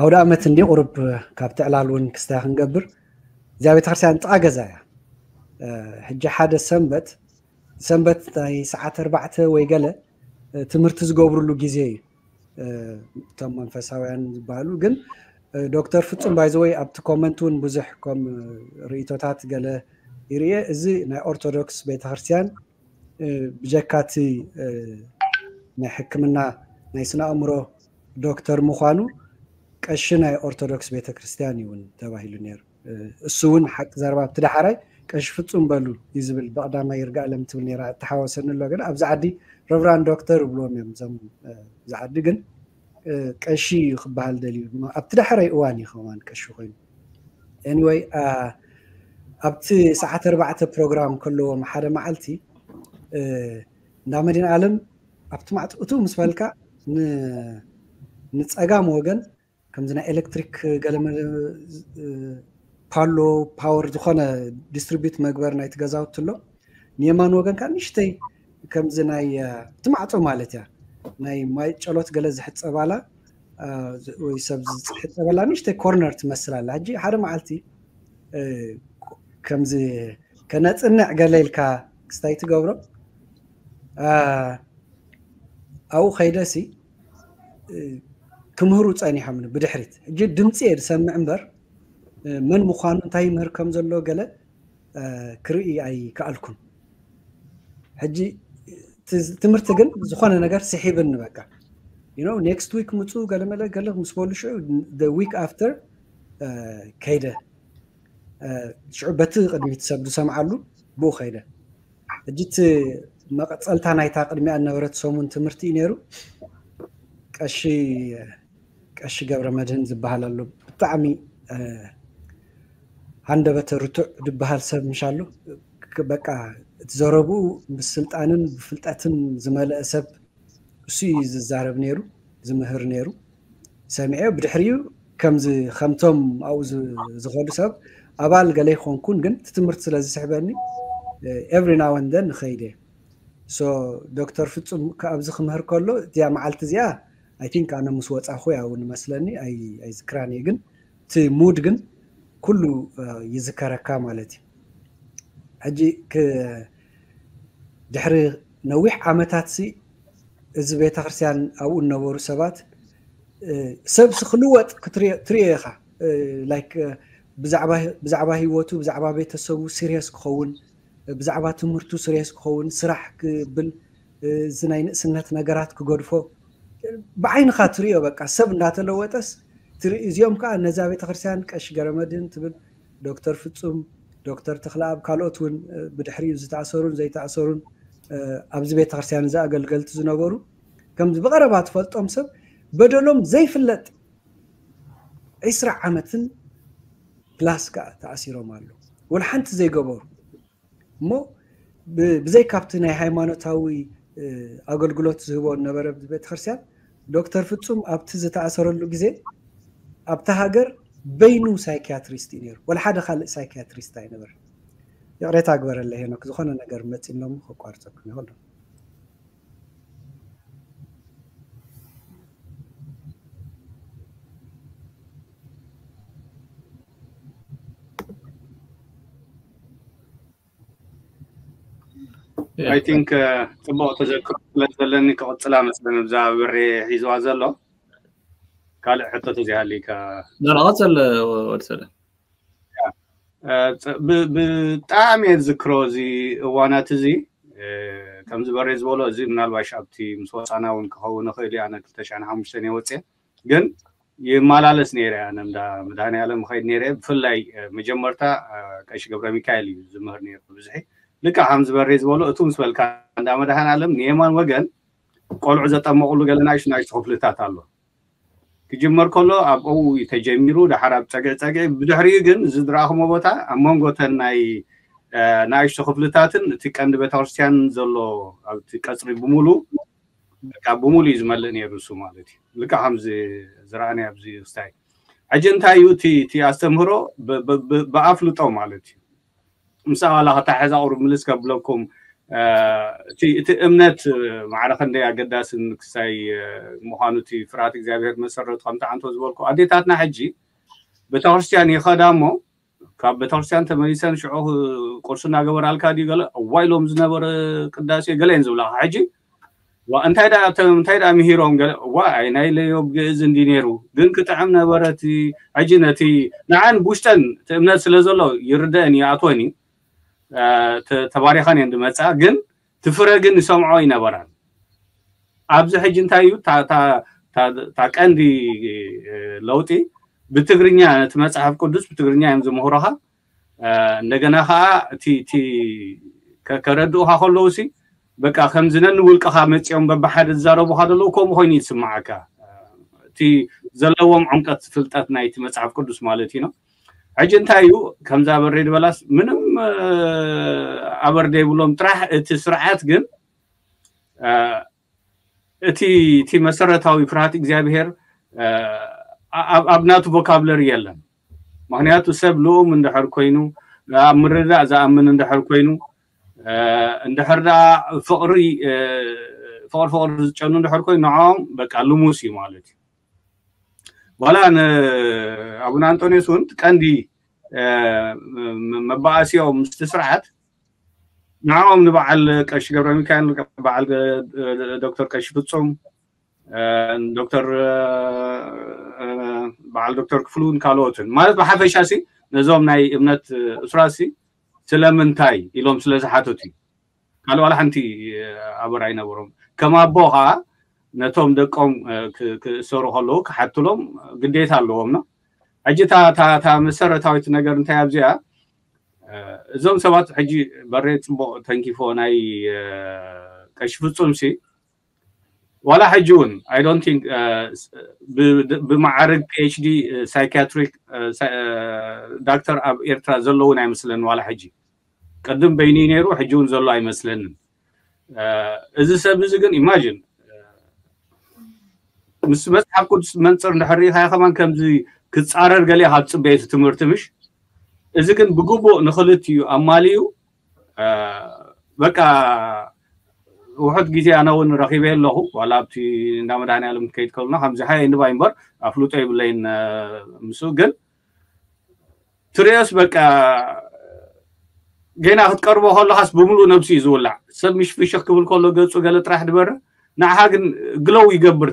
ኣውደ ኣመት እንዲ ቁሩብ ካብ ትዕላል እውን ክስታይ ክንገብር እዚኣ ቤተክርስትያን ጥቓ ገዛ እያ። ሕጂ ሓደ ሰንበት ሰንበት ናይ ሰዓት ኣርባዕተ ወይ ገለ ትምህርቲ ዝገብርሉ ግዜ እዩ። እቶም መንፈሳውያን ዝበሃሉ ግን ዶክተር ፍጹም ባይዘወይ ኣብቲ ኮመንት እውን ብዙሕ ከም ርእቶታት ገለ ይርየ። እዚ ናይ ኦርቶዶክስ ቤተክርስትያን ብጀካቲ ናይ ሕክምና ናይ ስነ ኣእምሮ ዶክተር ምዃኑ ቀሺ ናይ ኦርቶዶክስ ቤተክርስትያን እዩ እውን ተባሂሉ ነይሩ። እሱ እውን ሓቂ ዘረባ ኣብቲ ዳሕራይ ቀሺ ፍጹም በሉ እዩ ዝብል። ብቐዳማይ ይርጋለም ትብል ነይራ እተሓወሰኒ ኣሎ። ግን ኣብዚ ዓዲ ረብራን ዶክተር ይብልዎም እዮም እዞም እዚ ዓዲ። ግን ቀሺ እዩ ክበሃል ደልዩ። ኣብቲ ዳሕራይ እዋን እዩ ከማን ቀሺ ኮይኑ። ኤኒወይ ኣብቲ ሰዓት ኣርባዕተ ፕሮግራም ከለዎም ሓደ መዓልቲ እንዳ መድኃኔዓለም ኣብቲ ማዕጥቅቱ ምስ በልካ ንፀጋም ወገን ከምዚ ናይ ኤሌክትሪክ ገለ ፓሎ ፓወር ዝኾነ ዲስትሪቢዩት መግበር ናይቲ ገዛውቲ ኣሎ። ንየማን ወገን ከዓ ንእሽተይ ከምዚ ናይ እቲ ማዕፆ ማለት እያ ናይ ማይ ጨሎት ገለ ዝሕፀባላ ወይ ሰብ ዝሕፀበላ ንእሽተይ ኮርነር ትመስል ኣላ። ሕጂ ሓደ መዓልቲ ከምዚ ከነፅንዕ ገለ ኢልካ ክስታይ ትገብሮ ኣብኡ ከይደሲ ክምህሩ ፀኒሖም ብድሕሪት። ሕጂ ድምፂ እየ ዝሰምዕ እምበር መን ምዃኑ እንታይ ይምህር ከም ዘሎ ገለ ክርኢ ኣይከኣልኩን። ሕጂ ትምህርቲ ግን ዝኾነ ነገር ስሒብኒ በቃ። ኔክስት ዊክ ምፁ ገለመለ ገለ ምስ በሉ ሽዑ ዊክ ኣፍተር ከይደ። ሽዑ በቲ ቅድሚት ሰብ ዝሰምዓሉ ብኡ ከይደ። ሕጂ እቲ መቐፀልታ ናይታ ቅድሚኣ ዝነበረት ሰሙን ትምህርቲ እዩ ነይሩ። ቀሺ ቀሺ ገብረ መድህን ዝበሃል ኣሎ። ብጣዕሚ ሃንደበተ ርቱዕ ዝበሃል ሰብ ምሻሉ። በቃ እቲ ዘረብኡ ብስልጣንን ብፍልጠትን ዝመልአ ሰብ እሱ እዩ ዝዛረብ ነይሩ፣ ዝምህር ነይሩ። ሰሚዐ ብድሕሪኡ ከምዚ ከምቶም ኣብኡ ዝኸዱ ሰብ ኣባል ገለ ይኮንኩን፣ ግን እቲ ትምህርቲ ስለ ዝስሕበኒ every now and then ንኸይድ እየ። ሶ ዶክተር ፍጹም ኣብዚ ክምህር ከሎ እዚኣ መዓልቲ እዚኣ ኣይ ቲንክ ኣነ ምስ ወፃኹ እያ እውን መስለኒ፣ ኣይዝክራን እየ፣ ግን እቲ ሙድ ግን ኩሉ ይዝከረካ ማለት እዩ። ሕጂ ድሕሪ ነዊሕ ዓመታት ሲ እዚ ቤተክርስትያን ኣብኡ ዝነበሩ ሰባት ሰብ ክልወጥ ትሪኦ ኢኻ። ላይክ ብዛዕባ ህይወቱ ብዛዕባ ቤተሰቡ ሲሪየስ ክኸውን፣ ብዛዕባ ትምህርቱ ሲሪየስ ክኸውን፣ ስራሕ ክብል፣ እዚ ናይ ንእስነት ነገራት ክገድፎ ብዓይንኻ ትሪኦ። በቃ ሰብ እንዳተለወጠስ ትርኢ። እዚኦም ከዓ ነዛ ቤተክርስትያን ቀሺ ገረመድህን ትብል፣ ዶክተር ፍጹም፣ ዶክተር ተኽለኣብ፣ ካልኦት እውን ብድሕሪኡ ዝተኣሰሩን ዘይተኣሰሩን ኣብዚ ቤተክርስትያን እዚ ኣገልገልቲ ዝነበሩ ከምዚ ብቐረባ ትፈልጦም ሰብ በደሎም ዘይፍለጥ ዒስራ ዓመትን ፕላስ ከዓ ተኣሲሮም ኣለዉ። ወላ ሓንቲ ዘይገበሩ እሞ ብዘይ ካብቲ ናይ ሃይማኖታዊ ኣገልግሎት ዝህቦ ነበረ ቤተክርስትያን ዶክተር ፍጹም ኣብቲ ዝተኣሰረሉ ግዜ ኣብቲ ሃገር በይኑ ሳይኪያትሪስት እዩ ነይሩ። ወላ ሓደ ካልእ ሳይኪያትሪስት ኣይነበረ። ይቕሬታ ግበረለ ሄኖክ፣ ዝኾነ ነገር መፂ እሞ ከቋርፀኩም ይኸሉ። I think ጽቡቕ ተዘክሮ ስለ ዘለኒ ክቕጽላ መስለኒ ብዛ ብሬ ሒዝዋ ዘሎ ካልእ ሕቶ ተዘይሃልይካ ዳራ ቀጽል ወዲ ሰለ ብጣዕሚ እየ ዝክሮ እዚ እዋናት እዚ ከምዚ በሬ ዝበሎ እዚ ምናልባሽ ኣብቲ ምስ ወፃና እውን ክኸውን ይኽእል እዩ ኣነ ክልተ ሽሕን ሓሙሽተን እየ ወፅየ ግን ይመላለስ ነይረ። ኣነ እንዳ መድሃኔ ዓለም ኸይድ ነይረ። ብፍላይ መጀመርታ ቀሺ ገብረ ሚካኤል እዩ ዝምህር ነይሩ ብብዝሒ። ልክዕ ከም ዝበሬ ዝበሎ እቱ ምስ በልካ፣ እንዳ መድሃኔ ዓለም ንየማን ወገን ቆልዑ ዘጠመቑሉ ገለ ናይሽ ናይሽ ክፍልታት ኣሎ። ክጅመር ከሎ ኣብኡ ተጀሚሩ፣ ድሓር ኣብ ፀግዒ ፀግዒ፣ ብድሕሪኡ ግን ዝድረኣኹሞ ቦታ ኣብ መንጎተን ናይ ናእሽቶ ክፍልታትን እቲ ቀንዲ ቤተክርስትያን ዘሎ ኣብቲ ቀፅሪ ብምሉ ብሙሉ እዩ ዝመልእ ነይሩ እሱ ማለት እዩ። ልካ ከምዚ ዝረኣኒ ኣብዚ ክስታይ ሕጂ እንታይ እዩ እቲ ኣስተምህሮ ብኣፍልጦ ማለት እዩ። ምስ ኣባላ ክተሓዛ ቁሩብ ምልስ ከብለኩም እቲ እምነት ማዕረ ክንደይ ኣገዳስን ክሳይ ምዃኑ እቲ ፍርሃት እግዚኣብሔር መሰረቱ ከምቲ ዓንቶ ዝበልኩ ኣዴታትና ሕጂ ቤተክርስትያን ይኸዳ እሞ ካብ ቤተክርስትያን ተመሊሰን ሽዑ ቁርሲ እናገበራልካ ድዩ ገለ እዋ ኢሎም ዝነበረ ቅዳሴ ገለ እየን ዝብላካ ሕጂ እንታይ እንታይ ደኣ ምሂሮም ገለ እዋ ኣይ ናይ ለዮብ ግእዝ እንዲ ነይሩ ግን ክጥዕም ነበረ እቲ ሕጂ ነቲ ንዓን ብውሽጠን እቲ እምነት ስለ ዘሎ ይርደአን ይኣትወን እዩ ተባሪኻን እየን ዝመፃ ግን ትፍረ ግን ይሰምዖ ይነበራን ኣብዚ ሕጂ እንታይ እዩ እታ ቀንዲ ለውጢ ብትግርኛ ነቲ መፅሓፍ ቅዱስ ብትግርኛ እዮም ዝምህሮኻ እንደገና ከዓ እቲ ከረድኡኻ ከለዉ ሲ በቃ ከምዚ ነንውልቅኻ መፂኦም በብሓደ ዝዛረቡኻ ዘለዉ ከምኡ ኮይኑ ይስማዓካ እቲ ዘለዎም ዕምቀት ፍልጠት ናይቲ መፅሓፍ ቅዱስ ማለት እዩ ሕጂ እንታይ እዩ ከምዛ በሬ ዝበላስ ምንም ኣበር ዘይብሎም ጥራሕ እቲ ስርዓት ግን እቲ እቲ መሰረታዊ ፍርሃት እግዚኣብሔር ኣብ ናቱ ቮካብለሪ የለን ምክንያቱ ሰብ ልኡም እንድሕር ኮይኑ ኣብ ምርዳእ ዝኣምን እንድሕር ኮይኑ እንድሕር ደኣ ፍቕሪ ፍቕሪ ፍቕሪ ዝጨኑ እንድሕር ኮይኑ ንዕኦም በቃ ልሙስ እዩ ማለት እዩ ዋላ ንኣቡነ ኣንጦኒዮስ እውን ቀንዲ መባኣሲኦም ምስቲ ስርዓት ንዕኦም ንበዓል ቀሺ ገብረ ሚካኤል በዓል ዶክተር ቀሺ ፍጹም ዶክተር በዓል ዶክተር ክፍሉን ካልኦትን ማለት ብሓፈሻ ሲ ነዞም ናይ እምነት እሱራት ሲ ስለምንታይ ኢሎም ስለ ዝሓተቱ እዩ ካልእ ዋላ ሓንቲ ኣበር ኣይነበሮም ከም ኣቦ ከዓ ነቶም ደቆም ክእሰሩ ከለዉ ክሓትሎም ግዴታ ኣለዎም ነው ሕጂ እታ መሰረታዊት ነገር እንታይ ኣብዚኣ እዞም ሰባት ሕጂ በሬ ፅቡቅ ተንኪፎ ናይ ቀሺ ፍፁም ሲ ዋላ ሕጂ እውን I don't think ብማዕርግ PhD psychiatric doctor ኣብ ኤርትራ ዘለውን ኣይመስለኒ ዋላ ሕጂ ቅድም በይኑ ነይሩ ሕጂ እውን ዘሎ ኣይመስለንን እዚ ሰብ እዚ ግን imagine ምስ መፅሓፍ ቅዱስ መንፅር እንድሕር ርኢኻዮ ከማን ከምዚ ክፃረር ገሊኣ ካብ ፅበየቱ ትምህርቲ ምሽ እዚ ግን ብግቡእ ንክልቲኡ ኣማልዩ በቃ ውሑድ ግዜ ኣነ እውን ረኺበ ኣለኹ ዋላ ኣብቲ እንዳ መድሃኒ ዓለም ከይድ ከሉና ከምዚ ሓየ ንባይ እምበር ኣፍልጦ ይብለይን ምስ ግን ትሪኦስ በቃ ጌና ክትቀርቦ ከለካስ ብምሉእ ነብሱ እዩ ዝውላዕ ሰብ ምሽ ፍሽኽ ክብል ከሎ ገፁ ገለ ጥራሕ ድበረ ንዓኻ ግን ግለው ይገብር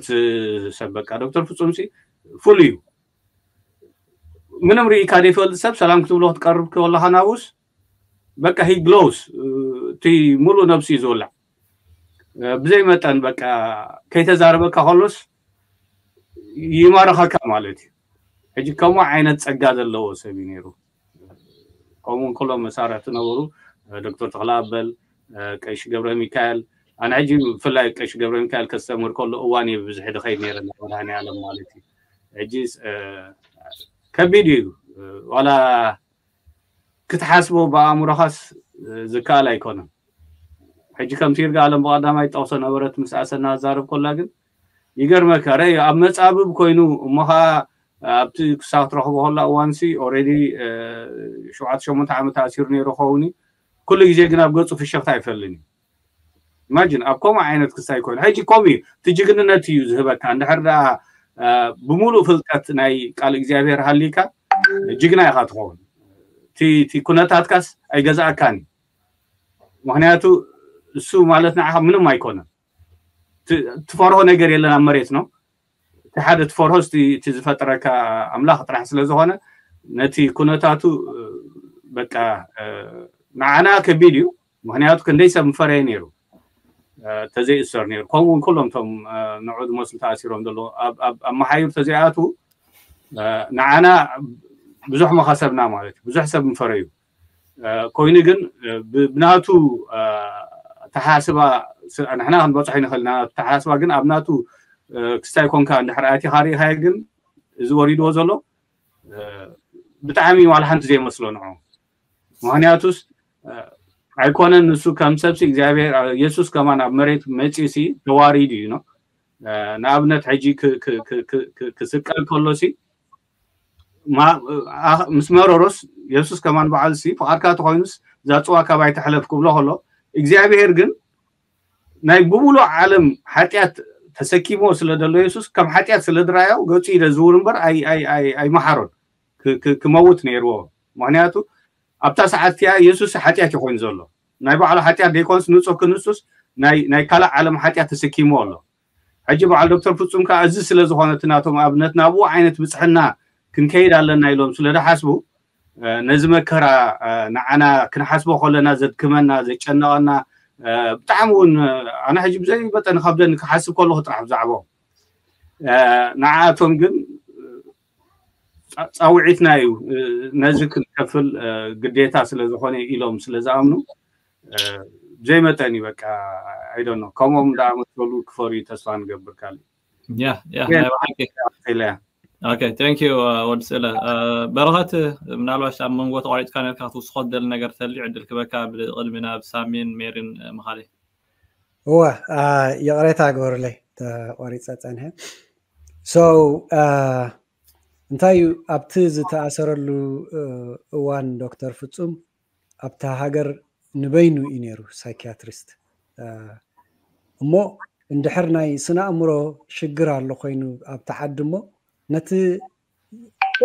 ሰብ በቃ ዶክተር ፍፁም ሲ ፍሉ እዩ ምንም ርኢካ ዘይፈልጥ ሰብ ሰላም ክትብሎ ክትቀርብ ከለካ ናብኡስ በቃ he glows እቲ ሙሉእ ነብሱ እዩ ዝውላዕ ብዘይ መጠን በቃ ከይተዛረበካ ከሎስ ይማርኸካ ማለት እዩ ሕጂ ከምኡ ዓይነት ፀጋ ዘለዎ ሰብ እዩ ነይሩ ከምኡ እንከሎ መሳርሕቲ ነበሩ ዶክተር ተክለኣበል ቀሺ ገብረ ሚካኤል ኣነ ሕጂ ብፍላይ ቀሺ ገብረ ሚካኤል ከስተምህር ከሎ እዋን እየ ብብዝሒ ድኸይድ ነይረ መድሃኒ ዓለም ማለት እዩ ሕጂ ከቢድ እዩ ዋላ ክትሓስቦ ብኣእምሮኻስ ዝከኣል ኣይኮነን ሕጂ ከምቲ ይርጋ ኣለም ብቐዳማይ ጠቕሶ ነበረት ምስ ኣሰና ዛረብ ኮላ ግን ይገርመካ ረይ ኣብ መጻብብ ኮይኑ እሞ ኸዓ ኣብቲ ክሳብ ትረኽቦ ከላ እዋንሲ already ሸውዓተ ሸሞንተ ዓመት ኣሲሩ ነይሩ ኸውን ኩሉ ግዜ ግን ኣብ ገጹ ፍሸኽታ ኣይፈልን እዩ imagine ኣብ ከምኡ ዓይነት ክሳይ ኮይኑ ሕጂ ከምኡ እዩ እቲ ጅግንነት እዩ ዝህበካ እንድሕር ደኣ ብሙሉእ ፍልጠት ናይ ቃል እግዚኣብሔር ሃሊካ ጅግና ኢኻ ትኸውን እቲ ኩነታትካስ ኣይገዛእካን እዩ ምክንያቱ እሱ ማለት ንዓኻ ምንም ኣይኮነን ትፈርሆ ነገር የለን ኣብ መሬት ነው እቲ ሓደ ትፈርሆ እቲ ዝፈጠረካ ኣምላኽ ጥራሕ ስለ ዝኾነ ነቲ ኩነታቱ በቃ ንዓና ከቢድ እዩ ምክንያቱ ክንደይ ሰብ ምፈረየ ነይሩ ተዘይእሰር ነይሩ ከምኡ እውን ኩሎም ቶም ንዑ ዝመስሉ ተኣሲሮም ዘለዉ ኣብ መሓዩር ተዘይኣትዉ ንዓና ብዙሕ መኸሰብና ማለት እዩ። ብዙሕ ሰብ ምፈረዩ ኮይኑ ግን ብናቱ ተሓስባ ንሕና ክንበፅሖ ይንኽእል ኢና። ተሓስባ ግን ኣብ ናቱ ክስታይ ኮንካ እንድሕር ኣቲኻ ርኢኻዮ ግን እዚ ወሪድዎ ዘሎ ብጣዕሚ ዋላ ሓንቲ ዘይመስሎ ንዑ። ምክንያቱስ ኣይኮነን ንሱ ከም ሰብሲ እግዚኣብሔር የሱስ ከማን ኣብ መሬት መፂኡ ሲ ተዋሪዱ እዩ ነው። ንኣብነት ሕጂ ክስቀል ከሎ ሲ ምስ መረሮስ የሱስ ከማን በዓል ሲ ፍቓድካ ተኮይኑስ እዛ ፅዋ ካባይ ትሕለፍ ክብሎ ከሎ እግዚኣብሔር ግን ናይ ብሙሉእ ዓለም ሓጢኣት ተሰኪሞ ስለ ዘሎ የሱስ ከም ሓጢኣት ስለ ድራዮ ገፁ ኢለ ዝውር እምበር ኣይመሓሮን ክመውት ነይርዎ። ምክንያቱ ኣብታ ሰዓት እቲኣ የሱስ ሓጢኣት እዩ ኮይኑ ዘሎ። ናይ ባዕሉ ሓጢኣት ደይኮንስ ንፁህ ክንሱስ ናይ ካልእ ዓለም ሓጢኣት ተሰኪምዎ ኣሎ። ሕጂ በዓል ዶክተር ፍጹም ከዓ እዚ ስለ ዝኾነ እቲ ናቶም ኣብነት ናብኡ ዓይነት ብፅሕና ክንከይድ ኣለና ኢሎም ስለ ዝሓስቡ ነዚ መከራ ንዓና ክንሓስቦ ከለና ዘድክመና ዘጨነቐና ብጣዕሚ እውን ኣነ ሕጂ ብዘይ መጠን ከብደኒ ክሓስብ ከለኹ ጥራሕ ብዛዕባኦም ንዓኣቶም ግን ፃውዒትና እዩ ነዚ ክንከፍል ግዴታ ስለ ዝኾነ ኢሎም ስለ ዝኣምኑ ዘይመጠን እዩ በቃ ኣይደኖ ከምኦም ዳኣመሰሉ ክፈርዩ ተስፋ ንገብር ካልእ ያ ያ ናይ ብሓቂ ኢለያ Okay, thank you ወዲ ስእለ በረኸት ምናልባት ኣብ መንጎ ተቋሪጥካ ነርካ ክትውስኮ ትደሊ ነገር ተልዩ ዕድል ክበካ ብቅድሚ ናብ ሳሚን ሜሪን ምኻለይ እወ ይቕሬታ ግበሩለይ ተቋሪፀ ፀንሐ so እንታይ እዩ ኣብቲ ዝተኣሰረሉ እዋን ዶክተር ፍፁም ኣብታ ሃገር ንበይኑ እዩ ነይሩ ሳይኪያትሪስት እሞ እንድሕር ናይ ስነ ኣእምሮ ሽግር ኣሎ ኮይኑ ኣብቲ ዓዲ እሞ ነቲ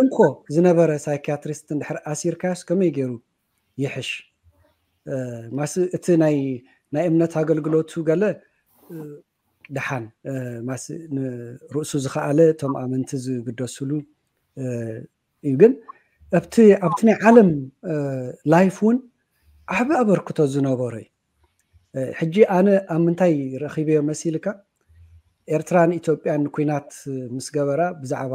እንኮ ዝነበረ ሳይኪያትሪስት እንድሕር ኣሲርካዮስ ከመይ ገይሩ ይሕሽ ማስ እቲ ናይ ናይ እምነት ኣገልግሎቱ ገለ ድሓን ማስ ንርእሱ ዝኸኣለ እቶም ኣመንቲ ዝግደስሉ እዩ ግን ኣብቲ ኣብቲ ናይ ዓለም ላይፍ እውን ዓቢ ኣበርክቶ ዝነበሮ እዩ ሕጂ ኣነ ኣብ ምንታይ ረኺበዮ መሲልካ ኤርትራን ኢትዮጵያን ኩናት ምስ ገበራ ብዛዕባ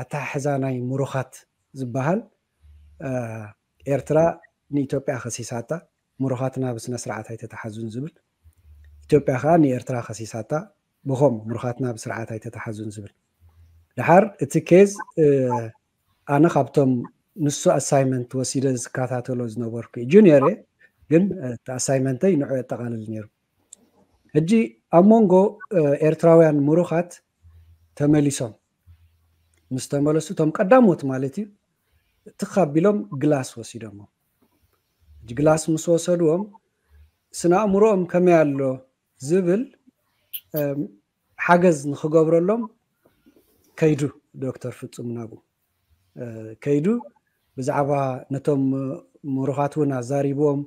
ኣተሓሕዛ ናይ ምሩኻት ዝበሃል ኤርትራ ንኢትዮጵያ ከሲሳታ ምሩኻትና ብስነ ስርዓት ኣይተተሓዙን ዝብል ኢትዮጵያ ከዓ ንኤርትራ ከሲሳታ ብኸም ምሩኻትና ብስርዓት ኣይተተሓዙን ዝብል ድሓር እቲ ኬዝ ኣነ ካብቶም ንሱ ኣሳይመንት ወሲደ ዝከታተሎ ዝነበርኩ ጁኒየር ግን እቲ ኣሳይመንተይ ንዑ የጠቃልል ነይሩ ሕጂ ኣብ መንጎ ኤርትራውያን ምሩኻት ተመሊሶም ምስ ተመለሱ እቶም ቀዳሞት ማለት እዩ ትኽ ኣቢሎም ግላስ ወሲዶሞ ግላስ ምስ ወሰድዎም ስነ ኣእምሮኦም ከመይ ኣሎ ዝብል ሓገዝ ንክገብረሎም ከይዱ ዶክተር ፍጹም ናብኡ ከይዱ ብዛዕባ ነቶም ምሩኻት እውን ኣዛሪብዎም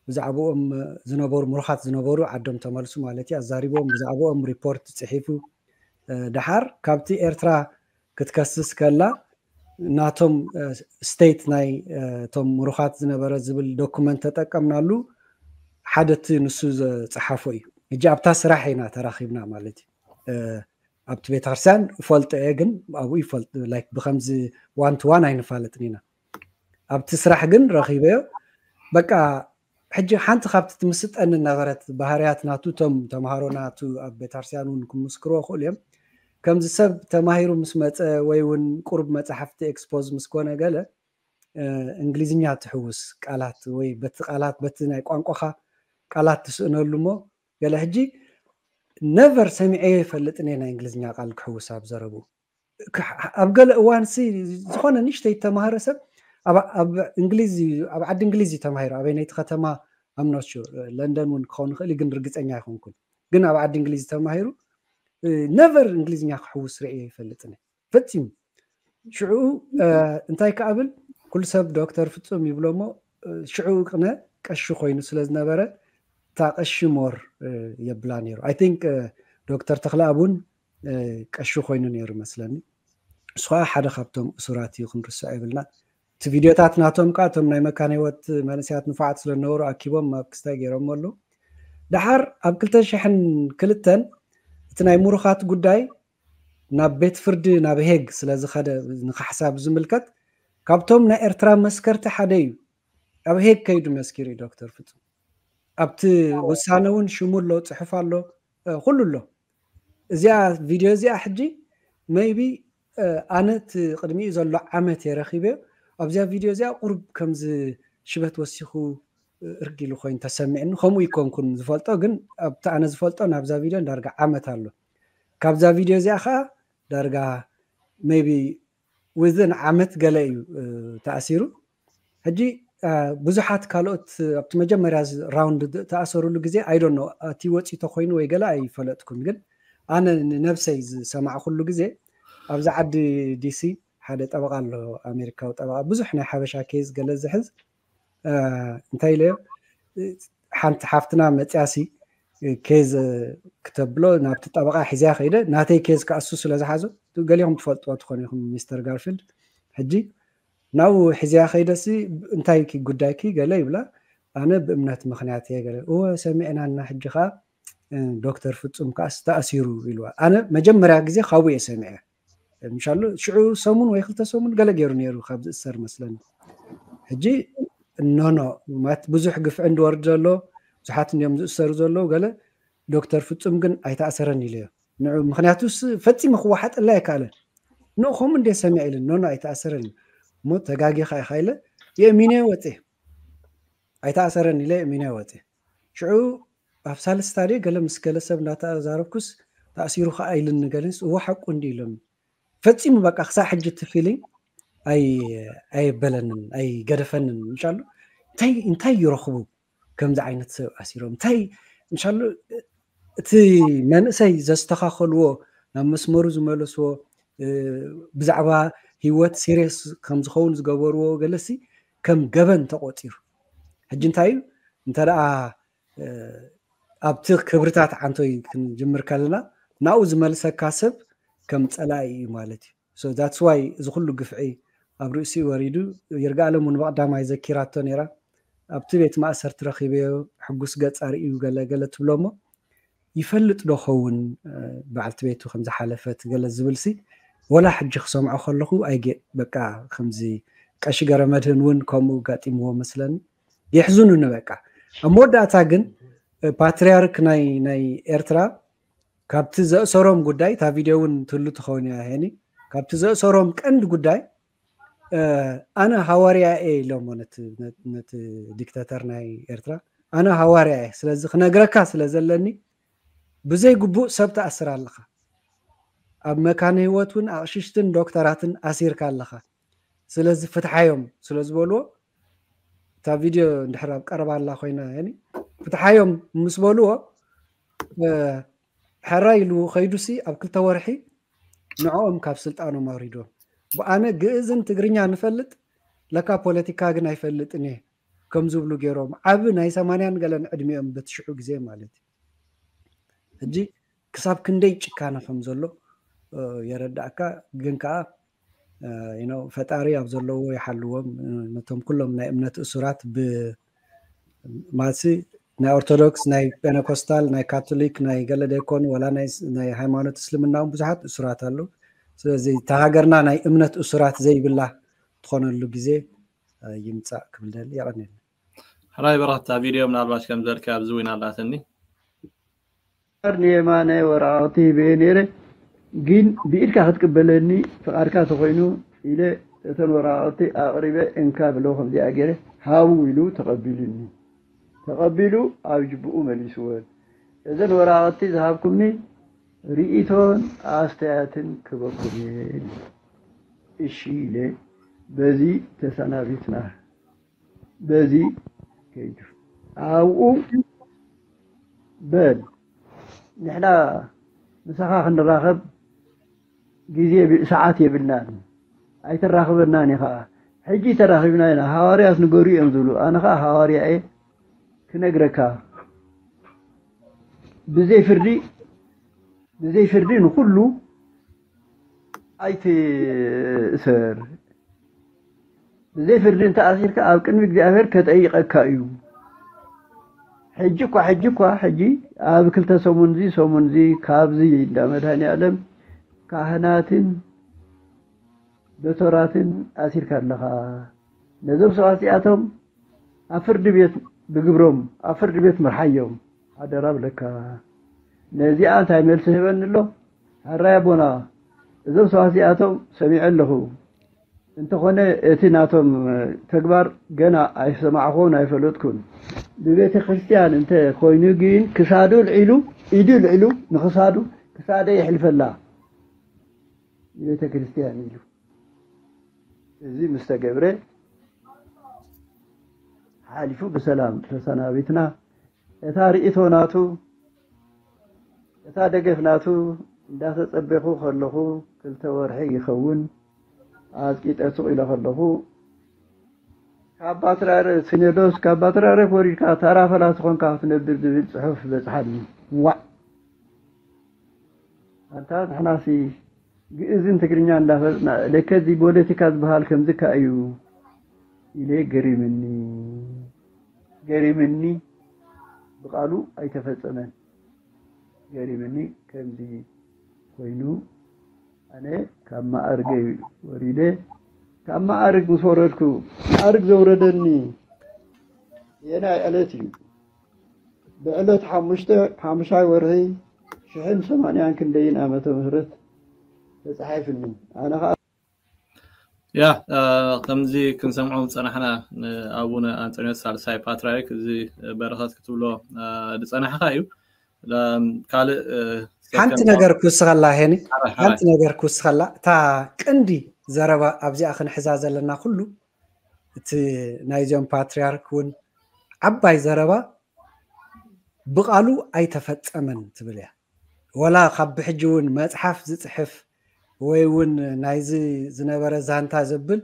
ብዛዕባኦም ዝነበሩ ምሩኻት ዝነበሩ ዓዶም ተመልሱ ማለት እዩ ኣዛሪብዎም ብዛዕባኦም ሪፖርት ፅሒፉ ድሓር ካብቲ ኤርትራ ክትከስስ ከላ ናቶም ስቴት ናይ እቶም ምሩኻት ዝነበረ ዝብል ዶኩመንት ተጠቀምናሉ ሓደ እቲ ንሱ ዝፀሓፎ እዩ ሕጂ ኣብታ ስራሕ ኢና ተራኺብና ማለት እዩ ኣብቲ ቤተክርስትያን እፈልጦ እየ ግን ኣብኡ ይፈልጥ ላይክ ብከምዚ ዋን ቱ ዋን ኣይንፋለጥን ኢና ኣብቲ ስራሕ ግን ረኺበዮ በቃ ሕጂ ሓንቲ ካብቲ ትምስጠኒ ነበረት ባህርያት ናቱ እቶም ተምሃሮ ናቱ ኣብ ቤተክርስትያን እውን ክምስክርዎ ክእሉ እዮም ከምዚ ሰብ ተማሂሩ ምስ መፀ ወይ እውን ቁሩብ መፅሓፍቲ ኤክስፖዝ ምስ ኮነ ገለ እንግሊዝኛ ትሕውስ ቃላት ወይ በቲ ቃላት በቲ ናይ ቋንቋኻ ቃላት ትስእነሉ እሞ ገለ ሕጂ ነቨር ሰሚዐ ይፈልጥን ናይ እንግሊዝኛ ቃል ክሕውስ ኣብ ዘረቡ ኣብ ገለ እዋን ሲ ዝኾነ ንሽተይ ተማሃረ ሰብ ኣብ እንግሊዝ ኣብ ዓዲ እንግሊዝ ተማሂሩ ኣበይ ነይቲ ከተማ ኣምኖት ለንደን እውን ክኸውን ይኽእል ግን ርግፀኛ ኣይኮንኩን ግን ኣብ ዓዲ እንግሊዝ ተማሂሩ ነቨር እንግሊዝኛ ክሕውስ ርእየ ይፈልጥን ፈፂሙ ሽዑ እንታይ ክኣብል ኩሉ ሰብ ዶክተር ፍፁም ይብሎ ሞ ሽዑ ቅነ ቀሺ ኮይኑ ስለ ዝነበረ እታ ቀሺ ሞር የብላ ነይሩ ኣይ ቲንክ ዶክተር ተክለኣብ እውን ቀሺ ኮይኑ ነይሩ መስለኒ እሱ ከዓ ሓደ ካብቶም እሱራት እዩ ክንርስዖ ይብልና እቲ ቪድዮታት ናቶም ከዓ እቶም ናይ መካን ህይወት መንእሰያት ንፉዓት ስለዝነበሩ ኣኪቦም ኣብ ክስታይ ገይሮም ኣለዉ ድሓር ኣብ ክልተ ሽሕን ክልተን እቲ ናይ ምሩኻት ጉዳይ ናብ ቤት ፍርዲ ናብ ሄግ ስለ ዝኸደ ንካሕሳ ብዝምልከት ካብቶም ናይ ኤርትራ መስከርቲ ሓደ እዩ። ኣብ ሄግ ከይዱ መስኪሩ እዩ ዶክተር ፍጹም። ኣብቲ ውሳነ እውን ሽሙ ኣሎ፣ ጽሑፍ ኣሎ፣ ኩሉ ኣሎ። እዚኣ ቪድዮ እዚኣ ሕጂ maybe ኣነ እቲ ቅድሚኡ ዘሎ ዓመት እየ ረኺበዮ። ኣብዚኣ ቪድዮ እዚኣ ቁሩብ ከምዚ ሽበት ወሲኹ እርግ ኢሉ ኮይኑ ተሰሚዕኒ። ከምኡ ይኮንኩን ዝፈልጦ፣ ግን ኣብቲ ኣነ ዝፈልጦ ናብዛ ቪድዮ ዳርጋ ዓመት ኣሎ። ካብዛ ቪድዮ እዚኣ ከዓ ዳርጋ maybe within ዓመት ገለ እዩ ተኣሲሩ። ሕጂ ብዙሓት ካልኦት ኣብቲ መጀመርያ ራውንድ ተኣሰሩሉ ግዜ I don't know እቲ ወፂ ተኮይኑ ወይ ገለ ኣይፈለጥኩን፣ ግን ኣነ ንነብሰይ ዝሰማዕኩሉ ግዜ ኣብዚ ዓዲ ዲሲ ሓደ ጠበቃ ኣሎ፣ ኣሜሪካዊ ጠበቃ፣ ብዙሕ ናይ ሓበሻ ኬዝ ገለ ዝሕዝ። እንታይ ኢለዮ፣ ሓንቲ ሓፍትና መፅያሲ ኬዝ ክተብሎ ናብቲ ጠበቃ ሒዝያ ከይደ፣ ናተይ ኬዝ ከኣሱ ስለ ዝሓዞ፣ ገሊኹም ትፈልጥዎ ትኾኑ ኢኹም ሚስተር ጋርፊልድ። ሕጂ ናብኡ ሒዝያ ከይደሲ፣ እንታይ ጉዳይኪ ገለ ይብላ። ኣነ ብእምነት ምክንያት እየ ገለ። እወ ሰሚዕናና፣ ሕጂ ከዓ ዶክተር ፍጹም ከኣስ ተኣሲሩ ኢልዋ። ኣነ መጀመርያ ግዜ ካብኡ እየ ሰሚዐ። ምሻሉ ሽዑ ሰሙን ወይ ክልተ ሰሙን ገለ ገይሩ ነይሩ ካብ ዝእሰር መስለኒ። ሕጂ ኖኖ ማለት ብዙሕ ግፍዒ እንድወርድ ዘሎ፣ ብዙሓት እንዲዮም ዝእሰሩ ዘለዉ። ገለ ዶክተር ፍጹም ግን ኣይተኣሰረን ኢለዮ። ንዑ ምክንያቱስ ፈጺሙ ክወሓጠላ ኣይከኣለን። ኖ ከምኡ እንደ ሰሚዐ ኢለ ኖኖ ኣይተኣሰረን እሞ ተጋጊኻ ኢኻ ኢለ የእሚነ ወፀ። ኣይተኣሰረን ኢለ የእሚነ ወፀ። ሽዑ ኣብ ሳልስታ ድየ ገለ ምስ ገለ ሰብ እንዳተዛረብኩስ ተኣሲሩ ከዓ ኢልኒ ገለስ እዎ ሓቁ እንዲ ኢሎም ፈጺሙ በቃ ክሳብ ሕጂ እቲ ፊሊንግ ኣየበለንን ኣይገደፈንን። ምሻሉ እንታይ እንታይ ይረኽቡ ከምዚ ዓይነት ሰብ ኣሲሮም እንታይ ምሻሉ እቲ መንእሰይ ዘስተኻኸልዎ ናብ መስመሩ ዝመለስዎ ብዛዕባ ህይወት ሲሪየስ ከም ዝኸውን ዝገበርዎ ገለሲ ከም ገበን ተቆፂሩ። ሕጂ እንታይ እዩ እንተ ደኣ ኣብቲ ክብርታት ዓንቶይ ክንጅምር ከለና ናብኡ ዝመልሰካ ሰብ ከም ፀላኢ እዩ ማለት እዩ። So that's why እዚ ኩሉ ግፍዒ ኣብ ርእሲኡ ወሪዱ። ይርጋኣለም እውን ብቐዳማይ ዘኪራቶ ነይራ። ኣብቲ ቤት ማእሰርቲ ረኺበዮ ሕጉስ ገፅ ኣርእዩ ገለ ገለ ትብሎ እሞ ይፈልጥ ዶ ኸውን በዓልቲ ቤቱ ከም ዝሓለፈት ገለ ዝብልሲ ወላ ሕጂ ክሰምዖ ከለኹ ኣይጌ በቃ ከምዚ ቀሺ ገረመድህን እውን ከምኡ ጋጢምዎ መስለኒ። የሕዝኑኒ በቃ። ኣብ መወዳእታ ግን ፓትርያርክ ናይ ናይ ኤርትራ ካብቲ ዘእሰሮም ጉዳይ እታ ቪድዮ እውን ትህሉ ትኸውን እያ ሄኒ። ካብቲ ዘእሰሮም ቀንዲ ጉዳይ ኣነ ሃዋርያ እየ ኢሎሞ ነቲ ዲክታተር ናይ ኤርትራ። ኣነ ሃዋርያ እየ፣ ስለዚ ክነግረካ ስለ ዘለኒ ብዘይ ግቡእ ሰብ ትኣስር ኣለኻ። ኣብ መካነ ህይወት እውን ኣቕሽሽትን ዶክተራትን ኣሲርካ ኣለኻ። ስለዚ ፍትሓዮም ስለ ዝበልዎ እታ ቪድዮ እንድሕር ኣብ ቀረባ ኣላ ኮይና ፍትሓዮም ምስ በልዎ ሕራይ ኢሉ ከይዱሲ ኣብ ክልተ ወርሒ ንዕኦም ካብ ስልጣኖም ኣውሪድዎም። ብኣነ ግእዝን ትግርኛ ንፈልጥ ለካ ፖለቲካ ግን ኣይፈልጥን እየ ከም ዝብሉ ገይሮም ዓቢ ናይ ሰማንያን ገለን ዕድሚኦም በትሽዑ ግዜ ማለት እዩ። ሕጂ ክሳብ ክንደይ ጭካነ ከም ዘሎ የረዳእካ። ግን ከዓ ፈጣሪ ኣብ ዘለዎ ይሓልዎም። ነቶም ኩሎም ናይ እምነት እሱራት ብ ማለትሲ ናይ ኦርቶዶክስ ናይ ፔነኮስታል ናይ ካቶሊክ ናይ ገለ ደይኮኑ ዋላ ናይ ሃይማኖት እስልምና እውን ብዙሓት እሱራት ኣለዉ። ስለዚ እታ ሃገርና ናይ እምነት እሱራት ዘይብላ ትኾነሉ ግዜ ይምፃእ ክብል ደሊ። የቐንየልና። ሕራይ በረኸት እታ ቪድዮ ምናልባሽ ከም ዘልካ ኣብዚ እውን ኣላትኒ። ፍቓድ ንየማናይ ወረቓቕቲ ሂበዮ ነይረ፣ ግን ብኢድካ ክትቅበለኒ ፍቓድካ ተኾይኑ ኢለ እተን ወረቓቕቲ ኣቕሪበ እንካ ብሎ ከምዚኣ ገይረ ሃቡ ኢሉ ተቐቢሉኒ። ተቐቢሉ ኣብ ጅብኡ መሊስወን። እዘን ወረቓቕቲ ዝሃብኩምኒ ርእይቶን ኣስተያየትን ክበኩም እየ ኢሉ። እሺ ኢለ በዚ ተሰናቢትና። በዚ ከይዱ ኣብኡ በል ንሕና ምሳኻ ክንራኸብ ግዜ ሰዓት የብልናን ኣይተራኽበናን ኢኻ። ሕጂ ተራኺብና ኢና። ሃዋርያት ንገሩ እዮም ዝብሉ። ኣነ ኸዓ ሃዋርያ እየ ክነግረካ ብዘይ ፍርዲ ብዘይ ፍርዲ ንኹሉ ኣይትእሰር። ብዘይ ፍርዲ እንተኣሲርካ ኣብ ቅድሚ እግዚኣብሔር ከጠይቐካ እዩ። ሕጂ እኳ ሕጂ እኳ ሕጂ ኣብ ክልተ ሰሙን እዚ ሰሙን እዚ ካብዚ እንዳ መድሃኒ ኣለም ካህናትን ዶቶራትን ኣሲርካ ኣለኻ። ነዞም ሰባት እዚኣቶም ኣብ ፍርዲ ቤት ብግብሮም ኣብ ፍርዲ ቤት ምርሓዮም ሓደራ ብለካ። ነዚኣ እንታይ መልሲ ህበኒ ኣሎ? ሕራይ ኣቦና፣ እዞም ሰባት እዚኣቶም ሰሚዐ ኣለኹ። እንተኾነ እቲ ናቶም ተግባር ገና ኣይሰማዕኹን ኣይፈለጥኩን። ብቤተ ክርስቲያን እንተ ኮይኑ ግን ክሳዱ ልዒሉ ኢዱ ልዒሉ ንክሳዱ ክሳደ ይሕልፈላ ቤተ ክርስቲያን ኢሉ እዚ ምስ ተገብረ ሓሊፉ ብሰላም ተሰናቢትና። እታ ርእይቶ ናቱ እታ ደገፍ ናቱ እንዳተጸበኹ ከለኹ ክልተ ወርሒ ይኸውን ኣጽቂጠ ስቕ ኢለ ከለኹ ካብ ባትራረ ሲኖዶስ ካብ ባትራረ ኮሪድካ ታራ ፈላሲ ኾንካ ክትነብር ዝብል ጽሑፍ በጽሓኒ። ዋዕ ኣንታ ንሕናሲ ግእዝን ትግርኛ እንዳፈለጥና ለከ እዚ ፖለቲካ ዝበሃል ከምዚ ከ እዩ ኢለ ገሪምኒ ገሪምኒ ብቃሉ ኣይተፈጸመን። ገሪምኒ ከምዚ ኮይኑ ኣነ ካብ ማዕርገይ ወሪደ ካብ ማዕርግ ምስ ወረድኩ ማዕርግ ዘውረደኒ የናይ ዕለት እዩ። ብዕለት ሓሙሽተ ሓሙሻይ ወርሒ ሽሕን ሰማንያን ክንደይን ዓመተ ምህረት ተጻሒፍኒ። ኣነ ኸዓ ያ ከምዚ ክንሰምዖ ዝጸናሕና ንኣቡነ ኣንጦንዮስ ሳልሳይ ፓትርያርክ እዚ በረኸት ክትብሎ ዝጸናሕካ እዩ። ካልእ ሓንቲ ነገር ክውስኸላ ሄኒ፣ ሓንቲ ነገር ክውስኸላ እታ ቀንዲ ዘረባ ኣብዚኣ ክንሕዛ ዘለና ኩሉ እቲ ናይዚኦም ፓትርያርክ እውን ዓባይ ዘረባ ብቃሉ ኣይተፈጸመን ትብል እያ። ወላ ካብ ብሕጂ እውን መጽሓፍ ዝጽሕፍ ወይ እውን ናይዚ ዝነበረ ዛንታ ዘብል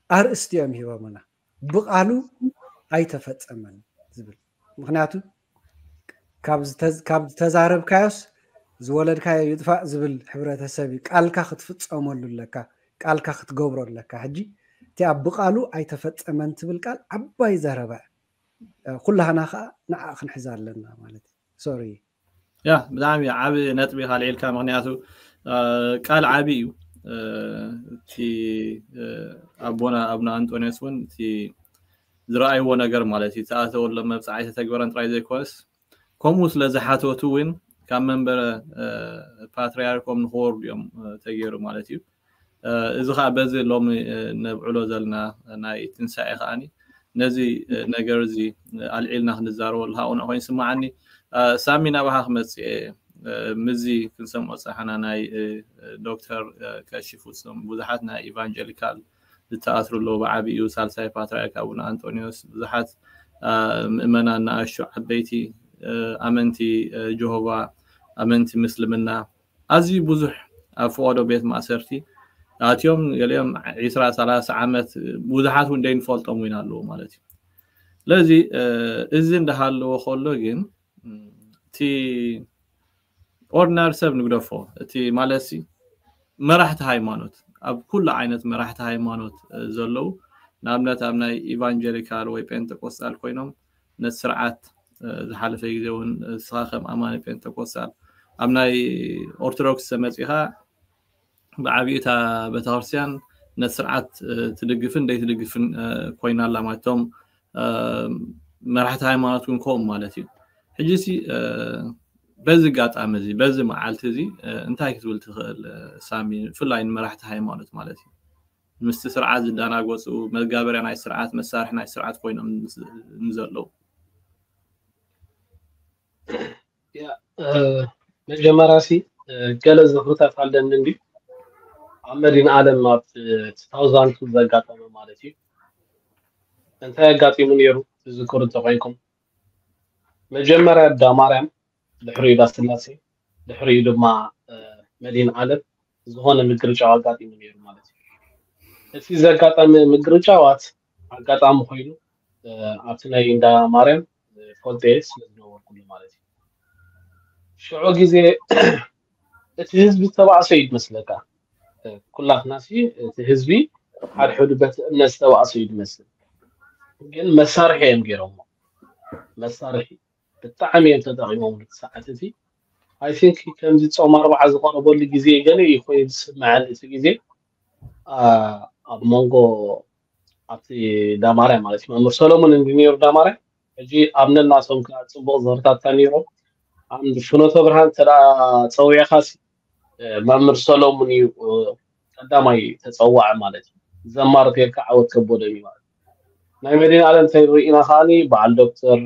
ኣርእስቲ እዮም ሂቦምና። ብቃሉ ኣይተፈጸመን ዝብል ምክንያቱ ካብ ዝተዛረብካዮስ ዝወለድካዮ ይጥፋእ ዝብል ሕብረተሰብ እዩ። ቃልካ ክትፍጸመሉ ኣለካ፣ ቃልካ ክትገብሮ ኣለካ። ሕጂ እቲኣ ብቃሉ ኣይተፈጸመን ትብል ቃል ዓባይ ዘረባ ኩላህና ከዓ ንዓ ክንሕዛ ኣለና ማለት እዩ። ሶሪ ያ ብጣዕሚ ዓብ ነጥቢ ካልዒልካ ምክንያቱ ቃል ዓብ እዩ። እቲ ኣቦና ኣብነ ኣንጦንዮስ እውን እቲ ዝረኣይዎ ነገር ማለት እዩ ተኣተወሎም መብፅዓ ኣይተተግበረን ጥራይ ዘይኮነስ ከምኡ ስለ ዝሓተቱ እውን ካብ መንበረ ፓትርያርኮም ንክወርዱ እዮም ተገይሩ ማለት እዩ። እዚ ከዓ በዚ ሎሚ ነብዕሎ ዘለና ናይ ትንሳኤ ከዓኒ ነዚ ነገር እዚ ኣልዒልና ክንዛረበሉ ከዓ ቁኑዕ ኮይኑ ይስምዓኒ። ሳሚ ናባኻ ክመፅእ እየ። ምዚ ክንሰምዖ ዝፀናሕና ናይ ዶክተር ቀሺ ፍፁም ብዙሓት ናይ ኢቫንጀሊካል ዝተኣስሩ ኣለዉ። ብዓብኡ ሳልሳይ ፓትርያርክ ኣቡነ ኣንጦንዮስ ብዙሓት ምእመናን ንኣሽቱ ዓበይቲ ኣመንቲ ጀሆቫ ኣመንቲ ምስልምና ኣዝዩ ብዙሕ ኣብ ፈቐዶ ቤት ማእሰርቲ ኣትዮም ገሊኦም ዒስራ ሰላሳ ዓመት ብዙሓት እውን ደይንፈልጦም እውን ኣለዉ ማለት እዩ። ስለዚ እዚ እንዳሃለዎ ከሎ ግን እቲ ኦርዲናሪ ሰብ ንግደፎ እቲ ማለት መራሕቲ ሃይማኖት ኣብ ኩሉ ዓይነት መራሕቲ ሃይማኖት ዘለዉ ንኣብነት ኣብ ናይ ኢቫንጀሊካል ወይ ጴንጠቆስጣል ኮይኖም ነቲ ስርዓት ዝሓለፈ ግዜ እውን ንስኻ ከም ኣማኒ ጴንጠቆስጣል ኣብ ናይ ኦርቶዶክስ ተመፂኻ ብዓብኡ እታ ቤተክርስትያን ነቲ ስርዓት ትድግፍን ዘይትድግፍን ኮይና ኣላ ማለት እቶም መራሕቲ ሃይማኖት እውን ከምኡ ማለት እዩ። ሕጂ ሲ በዚ ኣጋጣሚ እዚ በዚ መዓልቲ እዚ እንታይ ክትብል ትኽእል ሳሚ ብፍላይ ንመራሕቲ ሃይማኖት ማለት እዩ? ምስቲ ስርዓት ዝደናገፁ መጋበርያ ናይ ስርዓት መሳርሒ ናይ ስርዓት ኮይኖም ንዘለዉ መጀመርያ ሲ ገለ ዝኽርታት ኣለኒ እንዲ ኣብ መዲን ዓለም ኣብ ታውዛንቱ ዘጋጠመ ማለት እዩ። እንታይ ኣጋጢሙ ነይሩ ትዝክሩ እንተኮይንኩም መጀመርያ ዳ ማርያም ድሕሪኡ ዳ ስላሴ ድሕሪኡ ድማ መዲን ዓለም ዝኾነ ምግርጫው ኣጋጢሙ ነይሩ ማለት እዩ። እቲ ዘጋጠመ ምግርጫዋት ኣጋጣሚ ኮይኑ ኣብቲ ናይ እንዳ ማርያም ፈልጠ ስለ ዝነበርኩሉ ማለት እዩ። ሽዑ ግዜ እቲ ህዝቢ ዝተባእሰ እዩ ዝመስለካ። ኩላትና ሲ እቲ ህዝቢ ሓድሕዱ በቲ እምነት ዝተባእሰ እዩ ዝመስል። ግን መሳርሒ እዮም ገይሮሞ። መሳርሒ ብጣዕሚ እዮም ተጠቂሞም ሰዓት እቲ I think ከምዚ ጾም ኣርብዓ ዝቐረበሉ ግዜ ገለ እዩ ኮይኑ ዝስምዐኒ እቲ ግዜ። ኣብ መንጎ ኣብቲ ዳማርያ ማለት እዩ፣ መምህር ሰሎሙን እንዲ ነይሩ ዳማርያ። ሕጂ ኣብ ነናቶም ከዓ ጽቡቕ ዘርታታ ነይሮም። ኣብ ፍኖተ ብርሃን እንተ ደኣ ጸዊዕኻሲ መምህር ሰሎሙን እዩ ቀዳማይ ተጸዋዒ ማለት እዩ። ዘማሪ ተይልካ ዓወት ከበደ እዩ ማለት እዩ። ናይ መዲና ኣለም እንተሪኢና ከዓኒ በዓል ዶክተር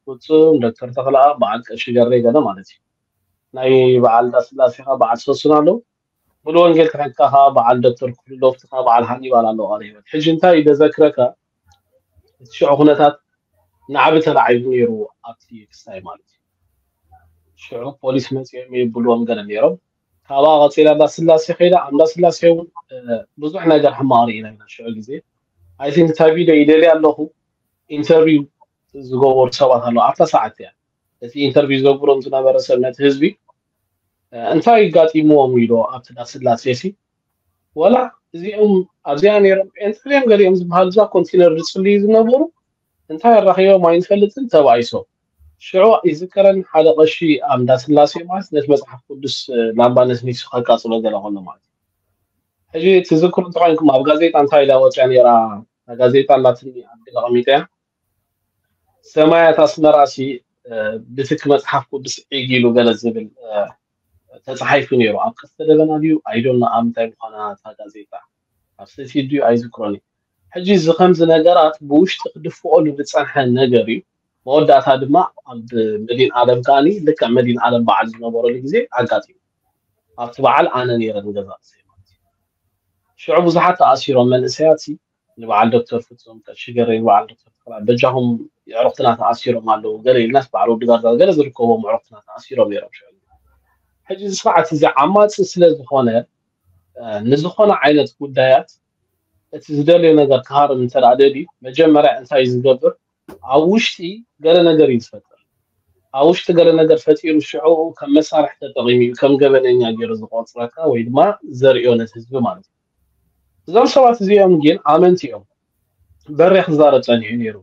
ፍጹም፣ ዶክተር ተኽለኣብ፣ በዓል ቀሺ ገሬ ገለ ማለት እዩ። ናይ በዓል ዳስላሴ ከዓ በዓል ሰሱን ኣለዉ። ሙሉ ወንጌል ክሕካ ከዓ በዓል ዶክተር ክፍሉ ዶፍቲ ከዓ በዓል ሃኒባል ኣለዉ። ቃለ ህይወት ሕጂ እንታይ እዩ ደዘክረካ፣ እቲ ሽዑ ኩነታት ናዕቢ ተላዒሉ ነይሩ ኣብቲ ክስታይ ማለት እዩ። ሽዑ ፖሊስ መፂኦም የብልዎም ገለ ነይሮም። ካብኣ ቀፂላ እንዳስላሴ ከይዳ ኣብ እንዳስላሴ እውን ብዙሕ ነገር ሕማቕ ርኢና ኢና። ሽዑ ግዜ ኣይ ቲንክ እታ ቪድዮ ይደልያ ኣለኹ። ኢንተርቪው ዝገበሩ ሰባት ኣለዉ ኣብታ ሰዓት እያ። እቲ ኢንተርቪው ዝገብሮም ዝነበረ ሰብ ነቲ ህዝቢ እንታይ ይጋጢምዎም ኢሉ ኣብቲ ዳስላሴ ሲ ወላ እዚኦም ኣብዚኣ ነይሮም ጴንጠ ድዮም ገሊኦም ዝበሃሉ እዛ ኮንቴነር ዝፅልዩ ዝነበሩ እንታይ ኣራኺቦም ኣይንፈልጥን ተባኢሶም። ሽዑ ይዝከረኒ ሓደ ቀሺ ኣብ እንዳስላሴ ማለት ነቲ መፅሓፍ ቅዱስ ላምባ ነስኒሱ ከቃፅሎ ገለ ከሎ ማለት እዩ። ሕጂ ትዝክሩ እንተኮይንኩም ኣብ ጋዜጣ እንታይ ኢላ ወፅያ ነይራ? እታ ጋዜጣ ኣላትኒ ኣብ ገለ ቀሚጠያ ሰማያት ኣስመራ ሲ ብትኪ መፅሓፍ ቅዱስ ዒግ ኢሉ ገለ ዝብል ተፃሒፉ ነይሩ። ኣብ ቀስተ ደበና ድዩ ኣይዶና ኣብ ምንታይ ምዃና እታ ጋዜጣ ኣብ ሰቲ ድዩ ኣይዝክሮን እዩ። ሕጂ እዚ ከምዚ ነገራት ብውሽጢ ክድፍኦሉ ዝፀንሐ ነገር እዩ። መወዳእታ ድማ ኣብ መዲን ኣለም ከዓኒ ልክዕ መዲን ኣለም በዓል ዝነበረሉ ግዜ ኣጋጢሙ። ኣብቲ በዓል ኣነ ነይረ ንገዛ ርእሰይ ማለት እዩ። ሽዑ ብዙሓት ተኣሲሮም መንእሰያት ሲ ንበዓል ዶክተር ፍጹም ቀሺ ገሬ ንበዓል ዶክተር ተኽላ በጃኹም የዕሩኽትና ተኣሲሮም ኣለዉ ገለ ኢልናስ በዓል ወዲ ጋርዛ ገለ ዝርከቦም ኣዕሩኽትና ተኣሲሮም ነይሮም። ሽዑ ሕጂ እዚ ስርዓት እዚ ዓማፂ ስለ ዝኾነ ንዝኾነ ዓይነት ጉዳያት እቲ ዝደልዮ ነገር ክሃርም እንተ ደኣ ደልዩ መጀመርያ እንታይ እዩ ዝገብር? ኣብ ውሽጢ ገለ ነገር እዩ ዝፈጥር። ኣብ ውሽጢ ገለ ነገር ፈጢሩ ሽዑ ከም መሳርሒ ተጠቒሙ እዩ ከም ገበነኛ ገይሩ ዝቆፅረካ ወይ ድማ ዘርእዮ ነቲ ህዝቢ ማለት እዩ። እዞም ሰባት እዚኦም ግን ኣመንቲ እዮም። በሬ ክዛረብ ጸኒሑ ነይሩ።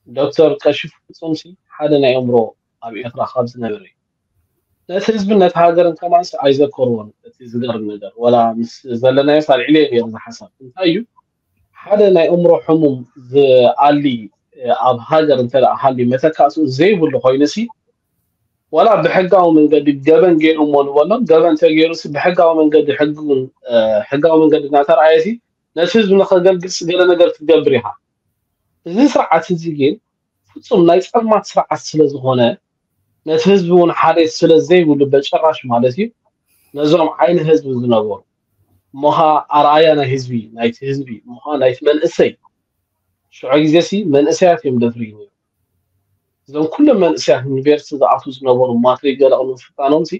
ዶክተር ቀሺ ፍጹም ሲ ሓደ ናይ ኣእምሮ ኣብ ኤርትራ ካብ ዝነበረ እዩ። ነቲ ህዝብን ነቲ ሃገርን ከማንስ ኣይዘከርዎን። እቲ ዝገርም ነገር ወላ ምስ ዘለናዮ ሳልዒለ ነይሩ ዝሓሳብ እንታይ እዩ ሓደ ናይ ኣእምሮ ሕሙም ዝኣሊ ኣብ ሃገር እንተ ደኣ ሃልዩ መተካእስኡ ዘይብሉ ኮይኑ ሲ ዋላ ብሕጋዊ መንገዲ ገበን ገይሩ እሞ ንበሎ ገበን ተገይሩ ሲ ብሕጋዊ መንገዲ ሕግን ሕጋዊ መንገዲ እናተረኣየ ሲ ነቲ ህዝቢ ንኸገልግል ሲ ገለ ነገር ክትገብር ኢኻ። እዚ ስርዓት እዚ ግን ፍጹም ናይ ጸልማት ስርዓት ስለ ዝኾነ ነቲ ህዝቢ እውን ሓደ ስለ ዘይብሉ በጭራሽ ማለት እዩ ነዞም ዓይኒ ህዝቢ ዝነበሩ እሞኻ ኣርኣያ ናይ ህዝቢ ናይቲ ህዝቢ እሞኻ ናይቲ መንእሰይ ሽዑ ግዜ ሲ መንእሰያት እዮም ደፍርዩ ነይሩ። እዞም ኩሎም መንእሰያት ዩኒቨርሲቲ ዝኣትዉ ዝነበሩ ማትሪክ ገለ ቅድሚ ምፍታኖም ሲ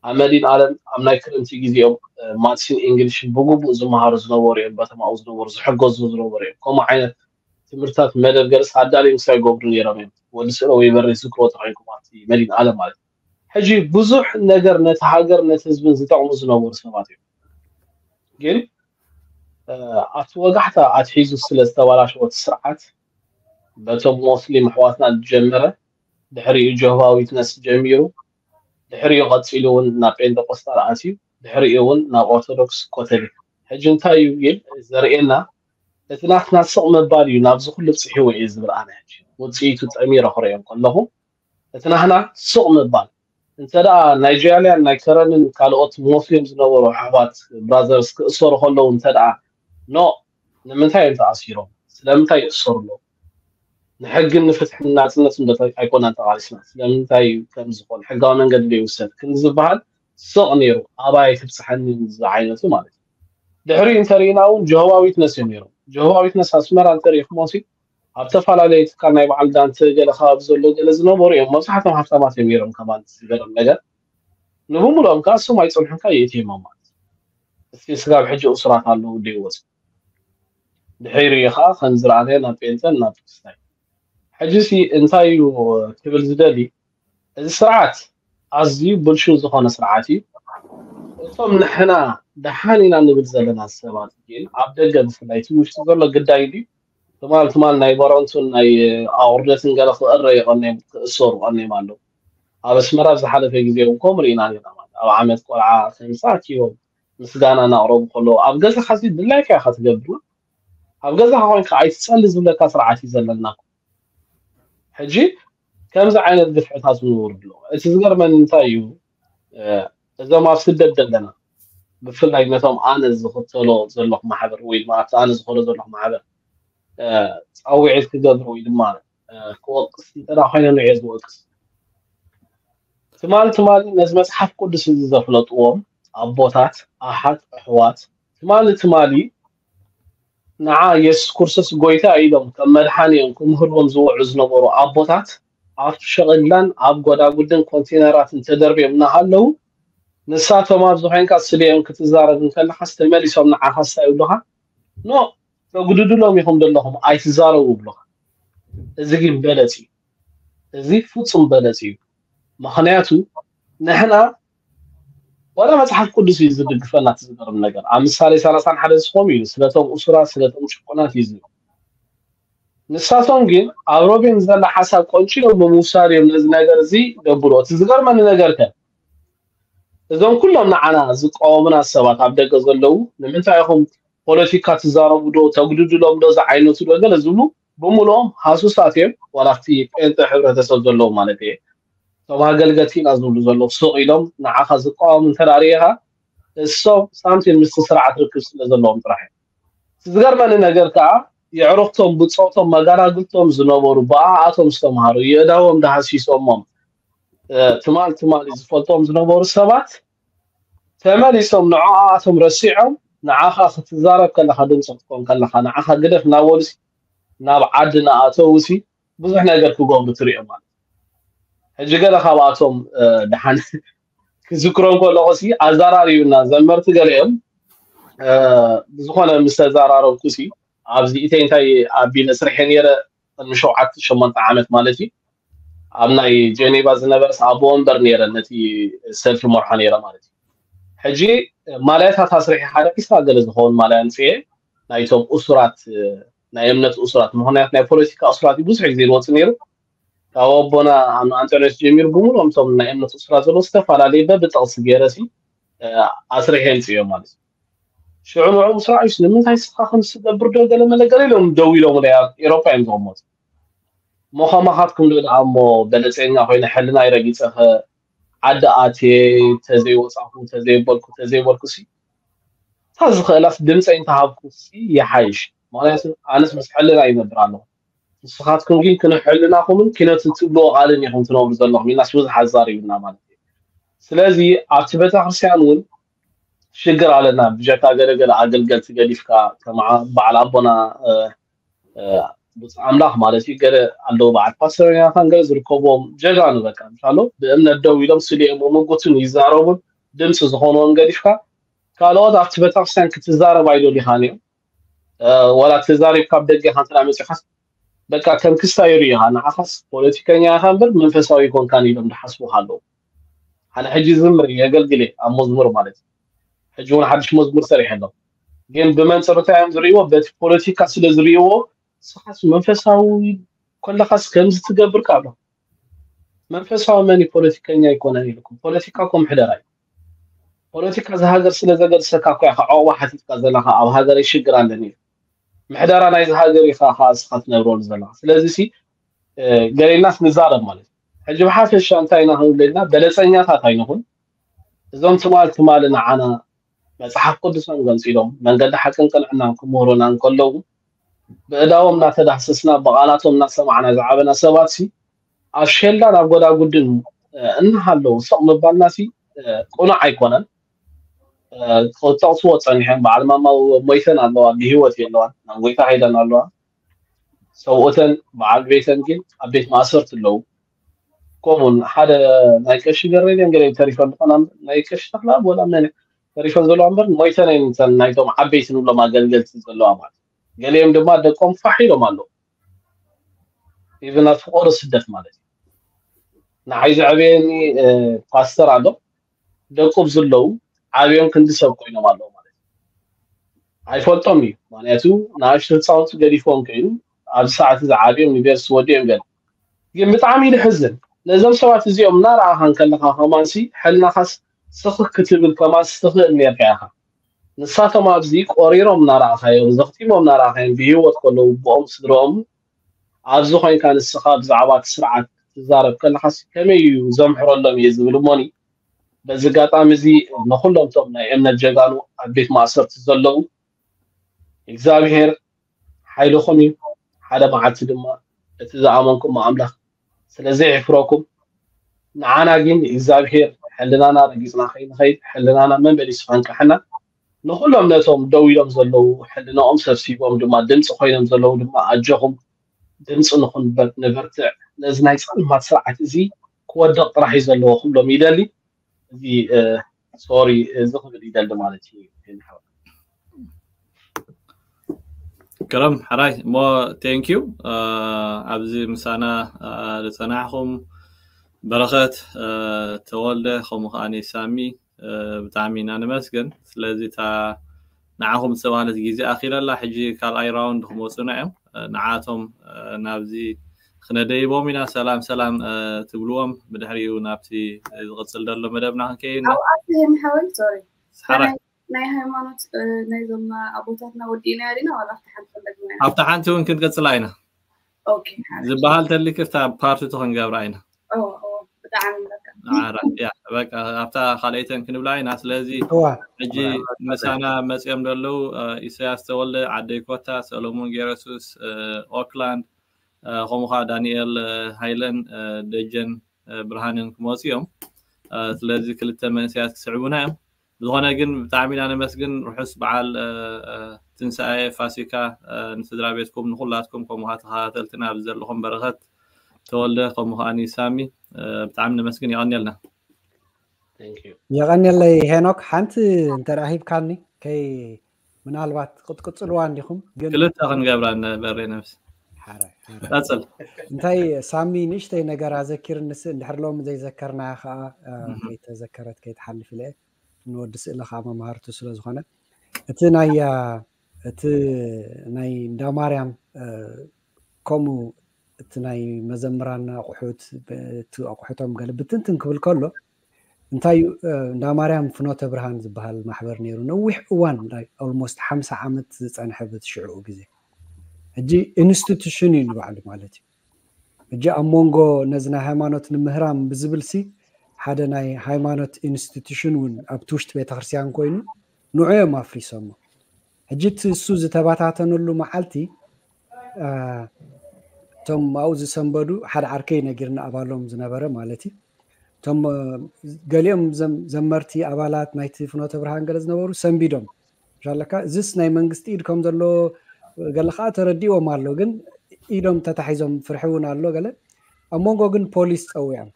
ኣብ መዲን ኣለም ኣብ ናይ ክረምቲ ግዜኦም ማትስን ኢንግሊሽን ብግቡእ ዝመሃሩ ዝነበሩ እዮም። በተማኡ ዝነበሩ ዝሕገዙ ዝነበሩ እዮም። ከምኡ ዓይነት ትምህርትታት መደብ ገለስ ኣዳልዮም ክሳብ ይገብሩ ነይሮም እዮም። ወዲ ስእለ ወይ በሬ ዝዝክሮ ተኮይንኩም ኣብቲ መዲን ኣለም ማለት እዩ። ሕጂ ብዙሕ ነገር ነቲ ሃገር ነቲ ህዝብን ዝጠቕሙ ዝነበሩ ሰባት እዮም። ግን ኣብቲ ወጋሕታ ኣትሒዙ ስለ ዝተበላሸወ እቲ ስርዓት በቶም ሞስሊም ኣሕዋትና ዝጀመረ ድሕሪኡ ጆህባ ዊትነስ ጀሚሩ ድሕሪኡ ቀፂሉ እውን ናብ ጴንጠቆስጣል ኣትዩ ድሕሪኡ እውን ናብ ኦርቶዶክስ ኮተሊክ ሕጂ እንታይ እዩ ይል ዘርእየና እቲ ናትና ስቕ ምባል እዩ ናብዚ ኩሉ ብፅሒዎ እየ ዝብል ኣነ ሕጂ ውፅኢቱ ጠሚረ ክርእዮም ከለኹ እቲ ናህና ስቕ ምባል እንተ ደኣ ናይ ጃልያን ናይ ከረንን ካልኦት ሞስሊም ዝነበሩ ኣሕዋት ብራዘርስ ክእሰሩ ከለዉ እንተ ደኣ ኖ ንምንታይ እዮም ተኣሲሮም ስለምንታይ ይእሰሩ ኣለዉ ንሕግን ንፍትሕን ናፅነትን ዶ ኣይኮናን ተቓሊስና ስለምንታይ ከም ዝኾን ሕጋዊ መንገዲ ዶ ይውሰድ ክንዲ ዝበሃል ስቕ ነይሩ ኣባይ ትብፅሐኒ ዝዓይነቱ ማለት እዩ ድሕሪኡ እንተሪኢና እውን ጀሆባ ዊትነስ እዮም ነይሮም ጀሆባ ዊትነስ ኣስመራ እንተሪኢኹሞ ሲ ኣብ ተፈላለየ ትካል ናይ በዓል ዳንተ ገለ ከባቢ ዘሎ ገለ ዝነበሩ እዮም መብዛሕቶም ሃፍታማት እዮም ነይሮም ከማን ዝገርም ነገር ንብሙሉኦም ከዓ እሶም ኣይፀንሑን ከዓ የእትዮም ማለት እስቲ ስጋብ ሕጂ እሱራት ኣለዉ ደይወፁ ድሕሪኡ ከዓ ከም ዝረኣናዮ ናብ ጴንጠን ናብ ክርስታይ ሕጂ ሲ እንታይ እዩ ክብል ዝደሊ እዚ ስርዓት ኣዝዩ ብልሹ ዝኾነ ስርዓት እዩ እቶም ንሕና ደሓን ኢና ንብል ዘለና ሰባት ግን ኣብ ደገ ብፍላይ እቲ ውሽጢ ዘሎ ግዳይ ድዩ ትማል ትማል ናይ በረንቱን ናይ ኣቑርደትን ገለ ክእረ ይቐነዮም ክእሰሩ ቀነዮም ኣለዉ ኣብ ኣስመራ ኣብ ዝሓለፈ ግዜ እውን ከምኡ ርኢና ነርና። ማለት ኣብ ዓመት ቆልዓ ከምዚ ኣኪቦም ምስጋና እናቕረቡ ከለዉ፣ ኣብ ገዛኻ እዚ ድላይካ ኢኻ ትገብር። ኣብ ገዛኻ ኮይንካ ኣይትጸሊ ዝብለካ ስርዓት እዩ ዘለና። ሕጂ ከምዚ ዓይነት ግፍዕታት እውን ይወርዱ ኣለዉ። እቲ ዝገርመኒ እንታይ እዩ፣ እዞም ኣብ ስደት ዘለና፣ ብፍላይ ነቶም ኣነ ዝኽተሎ ዘለኹ ማሕበር ወይ ድማ ኣብቲ ኣነ ዝኾሎ ዘለኹ ማሕበር ጻውዒት ክገብር ወይ ድማ ክወቅስ እንተ ኮይነ ንዕየ ዝወቅስ። ትማሊ ትማሊ ነዚ መጽሓፍ ቅዱስ እዚ ዘፍለጥዎም ኣቦታት፣ ኣሓት፣ ኣሕዋት፣ ትማሊ ትማሊ ንዓ የሱስ ክርስቶስ ጎይታ ኢሎም ከም መድሓኒ እዮም ክምህርዎም ዝውዑ ዝነበሩ ኣቦታት፣ ኣብ ሸቕላን ኣብ ጎዳጉድን ኮንቴነራትን ተደርብዮም እናሃለዉ፣ ንሳቶም ኣብዚ ኮይንካ ስለ እዮም ክትዛረብ እንከለኻስ ተመሊሶም ንዓኻ እንታይ ይብሉኻ? ኖ፣ ተጉድድሎም ኢኹም ዘለኹም፣ ኣይትዛረቡ ይብሉኻ። እዚ ግን በለጽ እዩ። እዚ ፍጹም በለጽ እዩ። ምኽንያቱ ንሕና ዋላ መጽሓፍ ቅዱስ እዩ ዝድግፈና። እቲ ዝገርም ነገር ኣብ ምሳሌ ሰላሳን ሓደ ዝኸውን እዩ፣ ስለቶም እሱራት ስለቶም ጭቁናት እዩ ዝብል። ንሳቶም ግን ኣብ ሮቤን ዘላ ሓሳብ ቆንጪሎም ብምውሳድ እዮም ነዚ ነገር እዚ ገብርዎ። እቲ ዝገርመኒ ነገር ከ እዞም ኩሎም ንዓና ዝቃወሙና ሰባት ኣብ ደገ ዘለዉ ንምንታይ ኢኹም ፖለቲካ ትዛረቡ ዶ ተጉድድሎም ዶ ዝዓይነቱ ዶ ገለ ዝብሉ ብምልኦም ሃሱሳት እዮም። ዋላ ኣብቲ ጴንጠ ሕብረተሰብ ዘለዉ ማለት እየ እቶም ኣገልገልቲ ኢና ዝብሉ ዘለዉ ሱቕ ኢሎም ንዓኻ ዝቃወሙ እንተ ርኢኻ እሶም ሳንቲም ምስቲ ስርዓት ርክብ ስለ ዘለዎም ጥራሕ እዮም። ዝገርመኒ ነገር ከዓ የዕሩኽቶም ብፆቶም መጋራግልቶም ዝነበሩ ብኣኣቶም ዝተምሃሩ የእዳዎም ዳሃሲሶሞም ትማል ትማል ዝፈልጦም ዝነበሩ ሰባት ተመሊሶም ንዕኣቶም ረሲዖም ንዓኻ ክትዛረብ ከለኻ ድምፂ ክትኮን ከለኻ ንዓኻ ግደፍ እናበሉ ናብ ዓዲ እናኣተው ብዙሕ ነገር ክገብሩ ትሪኦ ማለት ሕጂ ገለ ካብኣቶም ደሓን ክዝክሮም ከለኹ ሲ ኣዘራሪቡና ዘመርቲ ገሊኦም ብዝኾነ ምስ ተዘራረብኩ ሲ ኣብዚ ኢተይ እንታይ ኣቢለ ስርሐ ነይረ ቅድሚ ሸውዓተ ሸሞንተ ዓመት ማለት እዩ ኣብ ናይ ጀኔቫ ዝነበረስ ኣቦ ወንበር ነይረ ነቲ ሰልፊ መርሖ ነይረ ማለት እዩ ሕጂ ማልያታት ኣስሪሐ ሓደ ዒስራ ገለ ዝኸውን ማልያ ኣምፅኤ ናይቶም እሱራት ናይ እምነት እሱራት ምክንያት ናይ ፖለቲካ እሱራት ብዙሕ ግዜ ዝወፅእ ነይሩ ካብ ኣቦና ኣንጠንዮስ ጀሚሩ ብምሉኦም እቶም ናይ እምነት እሱራት ዘለዉ ዝተፈላለዩ በብጠቕሲ ገይረ ሲ ኣስሪሐ ኣምፅዮ ማለት እዩ ሽዑ ንዕኡ ምስ ረኣዩስ ንምንታይ ስኻ ከምዚ ትገብር ዶ ገለ መለ ገለ ኢሎም ደው ኢሎም ናይ ኤሮፓ እዮም ዝቕመጡ እሞ ከማኻትኩም ዶ ደኣ እሞ በለፀኛ ኮይነ ሕልናይ ረጊፀኸ ዓዲ ኣትየ ተዘይወፃኹ ተዘይበልኩ ተዘይበልኩ ሲ እታ ዝኽእላስ ድምፀይ እንተሃብኩ ሲ ይሓይሽ ምክንያቱ ኣነስ ምስ ሕልና ይነብር ኣለኹ ንስኻትኩም ግን ክንሕልናኹምን ኪነትን ትብልዎ ቃልን ኢኹም ትነብሩ ዘለኹም ኢልናስ ብዙሕ ኣዛሪቡና ማለት እዩ ስለዚ ኣብቲ ቤተክርስትያን እውን ሽግር ኣለና ብጀካ ገለገለ ኣገልገልቲ ገዲፍካ ከም በዓል ኣቦና ብፁዕ ኣምላኽ ማለት እዩ ገለ ኣለዉ በዓል ፓስተር ዮናታን ገለ ዝርከብዎም ጀጋኑ በቃ ምሻሎ ብእምነት ደው ኢሎም ስሊኦም ምጉትን ይዛረቡን ድምፂ ዝኾንዎም ገዲፍካ ካልኦት ኣብቲ ቤተክርስትያን ክትዛረብ ኣይደሊኻን እዮም ዋላ ተዛሪብካ ኣብ ደገ ኢኻ እንተ መፂኻስ በቃ ከም ክስታይ ይሪኢኻ ንዓኻስ ፖለቲከኛ ኢኻ እምበር መንፈሳዊ ኣይኮንካን ኢሎም ዝሓስቡኻ ኣለዉ ኣነ ሕጂ ዝምር የገልግል እየ ኣብ መዝሙር ማለት እዩ ሕጂ እውን ሓድሽ መዝሙር ሰሪሐ ኣለኹ ግን ብመንፅር እንታይ እዮም ዝርእይዎ በቲ ፖለቲካ ስለ ዝርእይዎ ንስኻስ መንፈሳዊ ከለኻስ ከምዚ ትገብር ካብ መንፈሳዊ መን ፖለቲከኛ ኣይኮነን ኢልኩም ፖለቲካ እኮ ምሕደራ እዩ ፖለቲካ እዚ ሃገር ስለ ዘገድሰካ እኮ ኢኻ ዕቑባ ሓቲትካ ዘለኻ ኣብ ሃገረይ ሽግር ኣለኒ ኢልካ ምሕደራ ናይዚ ሃገር ኢኻ ከዓ እስኻ ትነብረሉ ዘለኻ ስለዚ ሲ ገሌናስ ንዛረብ ማለት እዩ ሕጂ ብሓፈሻ እንታይ ኢና ክንብል ኢልና በለፀኛታት ኣይንኹን እዞም ትማል ትማል ንዓና መፅሓፍ ቅዱሶም ገንፂሎም መንገዲ ሓቅን ቅንዕናን ክምህሩና እንከለዉ ብእዳዎም እናተዳህሰስና ብቓላቶም እናሰማዕና ዝዓበና ሰባት ሲ ኣብ ሸላን ኣብ ጎዳጉድን እናሃለዉ ስቕ ምባልና ሲ ቅኑዕ ኣይኮነን ክጠቕስዎ ፀኒሖም በዓል ማማ ሞይተን ኣለዋ ብሂወት የለዋን ናብ ጎይታ ከይደን ኣለዋ ሰብኡተን በዓል ቤተን ግን ኣብ ቤት ማእሰርቲ ኣለዉ ከምኡን ሓደ ናይ ቀሺ ገረድን ገለ ተሪፈን ዝኾና ናይ ቀሺ ተኽላ ወላ መን ተሪፈን ዘለዋ እምበር ሞይተን እየን እተን ናይቶም ዓበይቲ ንብሎም ኣገልገልቲ ዘለዋ ማለት ገሊኦም ድማ ደቆም ፋሕ ኢሎም ኣለዉ ኢቭን ኣብ ፍቆዶ ስደት ማለት እዩ ንዓይ ዘዕበየኒ ፓስተር ኣሎ ደቁ ብዝለዉ ዓብዮም ክንዲ ሰብ ኮይኖም ኣለዉ ማለት እዩ ኣይፈልጦም እዩ ምክንያቱ ንኣሽቱ ህፃውንቲ ገዲፎም ከይኑ ኣብዚ ሰዓት እዚ ዓብዮም ዩኒቨርሲቲ ወዲኦም ገለ ግን ብጣዕሚ እዩ ዝሕዝን ነዞም ሰባት እዚኦም እናረኣኻ እንከለኻ ከማንሲ ሕልናኻስ ስኽክ ክትብል ከማንሲ ትኽእል ነርካ ኢኻ። ንሳቶም ኣብዚ ቆሪሮም እናረኣኻዮም፣ ዘኽቲሞም እናረኣኻዮም፣ ብህይወት ከለዉ ብኦም ስድረኦም ኣብዚ ኮይንካ ንስኻ ብዛዕባ እቲ ስርዓት ክትዛረብ ከለኻስ ከመይ እዩ ዘምሕረሎም እየ ዝብል እሞኒ። በዚ ኣጋጣሚ እዚ ንኹሎም እቶም ናይ እምነት ጀጋኑ ኣብ ቤት ማእሰርቲ ዘለዉ እግዚኣብሔር ሓይልኹም እዩ። ሓደ መዓልቲ ድማ እቲ ዝኣመንኩሞ ኣምላኽ ስለ ዘይሕፍረኩም ንዓና ግን እግዚኣብሔር ሕልናና ረጊጽና ከይንኸይድ ሕልናና መመሊሱ ከንቅሐና ንኹሎም ነቶም ደው ኢሎም ዘለዉ ሕልናኦም ሰብሲቦም ድማ ድምፂ ኮይኖም ዘለዉ ድማ ኣጆኹም ድምፂ ንኹን ንበርትዕ ነዚ ናይ ፀልማት ስርዓት እዚ ክወድቕ ጥራሕ እዩ ዘለዎ ክብሎም ይደሊ። እዚ ሶሪ እዚ ክብል ይደሊ ማለት እዩ። ግርም ሕራይ እሞ thank you ኣብዚ ምሳና ዝፀናሕኹም በረኸት ተወልደ ከምኡ ከዓኒ ሳሚ ብጣዕሚ ኢና ንመስግን። ስለዚ እታ ንዓኹም ዝተባህለት ግዜ ኣኺለላ ሕጂ ካልኣይ ራውንድ ክመፁና እዮም። ንዓቶም ናብዚ ክነደይቦም ኢና ሰላም ሰላም ትብልዎም። ብድሕሪኡ ናብቲ ዝቕፅል ዘሎ መደብና ክንከይድ ኢና። ኣብኣት ይህን ሓወይ ሶሪ ሓራይ ናይ ሃይማኖት ናይዞም ኣቦታትና ወዲእና ዲና ዋላ ኣብቲ ሓንቲ ፈለግና ኢና ኣብቲ ሓንቲ እውን ክንቅፅላ ኢና። ኦኬ ሓራይ ዝበሃል ተሊክ እታ ፓርቲቱ ክንገብራ ኢና። ኦ ኦ ብጣዕሚ በቃ ዓራ ያ በቃ ኣብታ ካልኣይተን ክንብላ ኢና። ስለዚ እዋ ሕጂ ምሳና መፅኦም ዘለዉ ኢሳያስ ተወልደ፣ ዓደይ ኮታ፣ ሰሎሞን ጌረሱስ፣ ኦክላንድ፣ ከምኡ ከዓ ዳንኤል ሃይለን ደጀን ብርሃንን ክመፁ እዮም። ስለዚ ክልተ መንእሰያት ክስዕቡና እዮም። ዝኾነ ግን ብጣዕሚ ኢና ነመስግን። ርሑስ በዓል ትንሳኤ ፋሲካ ንስድራ ቤትኩም ንኩላትኩም፣ ከምኡ ከዓ ተኸታተልትና ኣብዚ ዘለኹም በረኸት ተወልደ፣ ከምኡ ከዓኒ ሳሚ ብጣዕሚ ነመስግን። የቐንየልና። Thank you። የቐንየለይ ሄኖክ። ሓንቲ እንተ ደኣ ሂብካኒ ከይ ምናልባት ክትቅፅልዋ እንዲኹም ግን ክልተ ክንገብራ ነበረ ነብስ ሓራይ ሓራይ ቀፅል። እንታይ ሳሚ ንእሽተይ ነገር ኣዘኪርንስ እንድሕር ሎሚ ዘይዘከርናያ ከዓ እ፣ ከይተዘከረት ከይትሓልፍ ኢለ ንወዲ ስእሊ ከዓ መምሃርቱ ስለ ዝኾነ እቲ ናይ እ፣ እቲ ናይ እንዳ ማርያም እ፣ ከምኡ እቲ ናይ መዘምራን ኣቑሑት ብ- እቲ ኣቑሑቶም ገለ ብትንትን ክብል ከሎ እንታይ እዩ እ፣ እንዳ ማርያም ፍኖተ ብርሃን ዝበሃል ማሕበር ነይሩ ነዊሕ እዋን ኦልሞስት ሓምሳ ዓመት ዝፀንሐ በቲ ሽዕኡ ግዜ ሕጂ ኢንስቲቱሽን እዩ ንባዕሉ ማለት እዩ። ሕጂ ኣብ መንጎ ነዚ ናይ ሃይማኖት ንምህራም ብዝብል ሲ ሓደ ናይ ሃይማኖት ኢንስቲቱሽን እውን ኣብቲ ውሽጢ ቤተክርስትያን ኮይኑ ንዑ እዮም ኣፍሪሶሞ። ሕጂ እቲ እሱ ዝተበታተነሉ መዓልቲ እ፣ እቶም ኣብኡ ዝሰንበዱ ሓደ ዓርከይ ነጊርኒ ኣባሎም ዝነበረ ማለት እዩ። እቶም እ፣ ገሊኦም ዘም- ዘመርቲ ኣባላት ናይቲ ፍኖተ ብርሃን ገለ ዝነበሩ ሰንቢዶም ሻለካ እዚስ ናይ መንግስቲ ኢድ ከም ዘሎ ገለ ከዓ ተረዲዎም ኣሎ ግን ኢዶም ተታሒዞም ፍርሒ እውን ኣሎ ገለ ኣብ መንጎ ግን ፖሊስ ፀዊዖም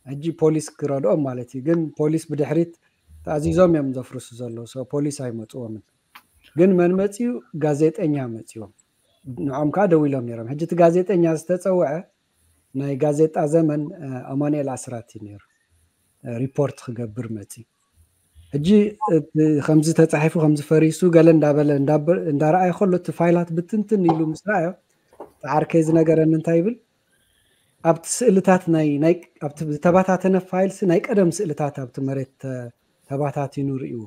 ሕጂ ፖሊስ ክረድኦም ማለት እዩ ግን ፖሊስ ብድሕሪት ተኣዚዞም እዮም ዘፍርሱ ዘለዉ so ፖሊስ ኣይመፅዎምን ግን መን መፅዩ ጋዜጠኛ መፅዎም ንዖም ከዓ ደው ኢሎም ነይሮም ሕጂ እቲ ጋዜጠኛ ዝተፀውዐ ናይ ጋዜጣ ዘመን እ፣ ኣማኑኤል ኣስራት እዩ ነይሩ እ፣ ሪፖርት ክገብር መፂ ሕጂ እቲ ከምዚ ተፃሒፉ ከምዚ ፈሪሱ ገለ እንዳበለ እንዳበ- እንዳረኣየ ከሎ እቲ ፋይላት ብትንትን ኢሉ ምስ ረኣዮ እቲ ዓርከይ ዝነገረኒ እንታይ ይብል ኣብቲ ስእልታት ናይ ናይ ኣብቲ ዝተባታተነ ፋይልሲ ናይ ቀደም ስእልታት ኣብቲ መሬት ተ- ተባታቲኑ ርእዎ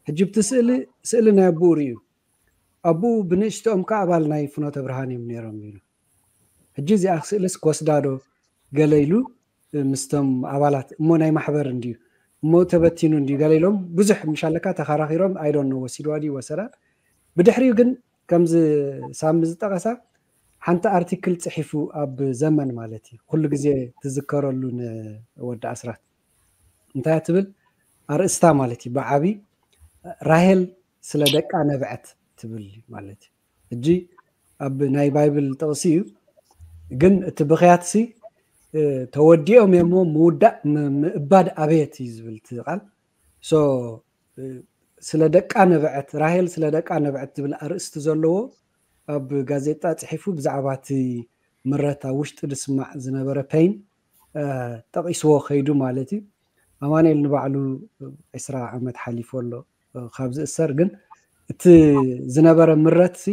ሕጂ ብቲ ስእሊ ስእሊ ናይ ኣቡኡ ርእዩ ኣቡኡ ብንእሽትኦም ከዓ ኣባል ናይ ፍኖተ ብርሃን እዮም ነይሮም ኢሉ ሕጂ እዚኣ ስእልስ ክወስዳ ዶ ገለ ኢሉ ምስቶም ኣባላት እሞ ናይ ማሕበር እንድዩ እሞ ተበቲኑ እንድዩ ገለ ኢሎም ብዙሕ ምሻለካ ተኸራኺሮም ኣይዶን ወሲድዋ ድዩ ወሰዳ ብድሕሪኡ ግን ከምዚ ሳሚ ዝጠቐሳ ሓንቲ ኣርቲክል ፅሒፉ ኣብ ዘመን ማለት እዩ ኩሉ ግዜ ትዝከረሉ ንወዲ ኣስራት እንታይ ትብል ኣርእስታ ማለት እዩ ብዓቢ ራሄል ስለ ደቃ ነብዐት ትብል ማለት እዩ ሕጂ ኣብ ናይ ባይብል ጥቕሲ እዩ ግን እቲ ብኽያትሲ እ፣ ተወዲኦም እሞ ምውዳእ ም- ምእባድ ኣበየት እዩ ዝብል እቲ ቃል so እ፣ ስለ ደቃ ነብዐት ራሄል ስለ ደቃ ነብዐት ዝብል ኣርእስቲ ዘለዎ ኣብ ጋዜጣ ፅሒፉ ብዛዕባ እቲ ምረት ኣብ ውሽጢ ዝስማዕ ዝነበረ ፔን እ፣ ጠቒስዎ ከይዱ ማለት እዩ ኣማኑኤል ንባዕሉ ዕስራ ዓመት ሓሊፎ ኣሎ እ፣ ካብ ዝእሰር ግን እቲ ዝነበረ ምረት ሲ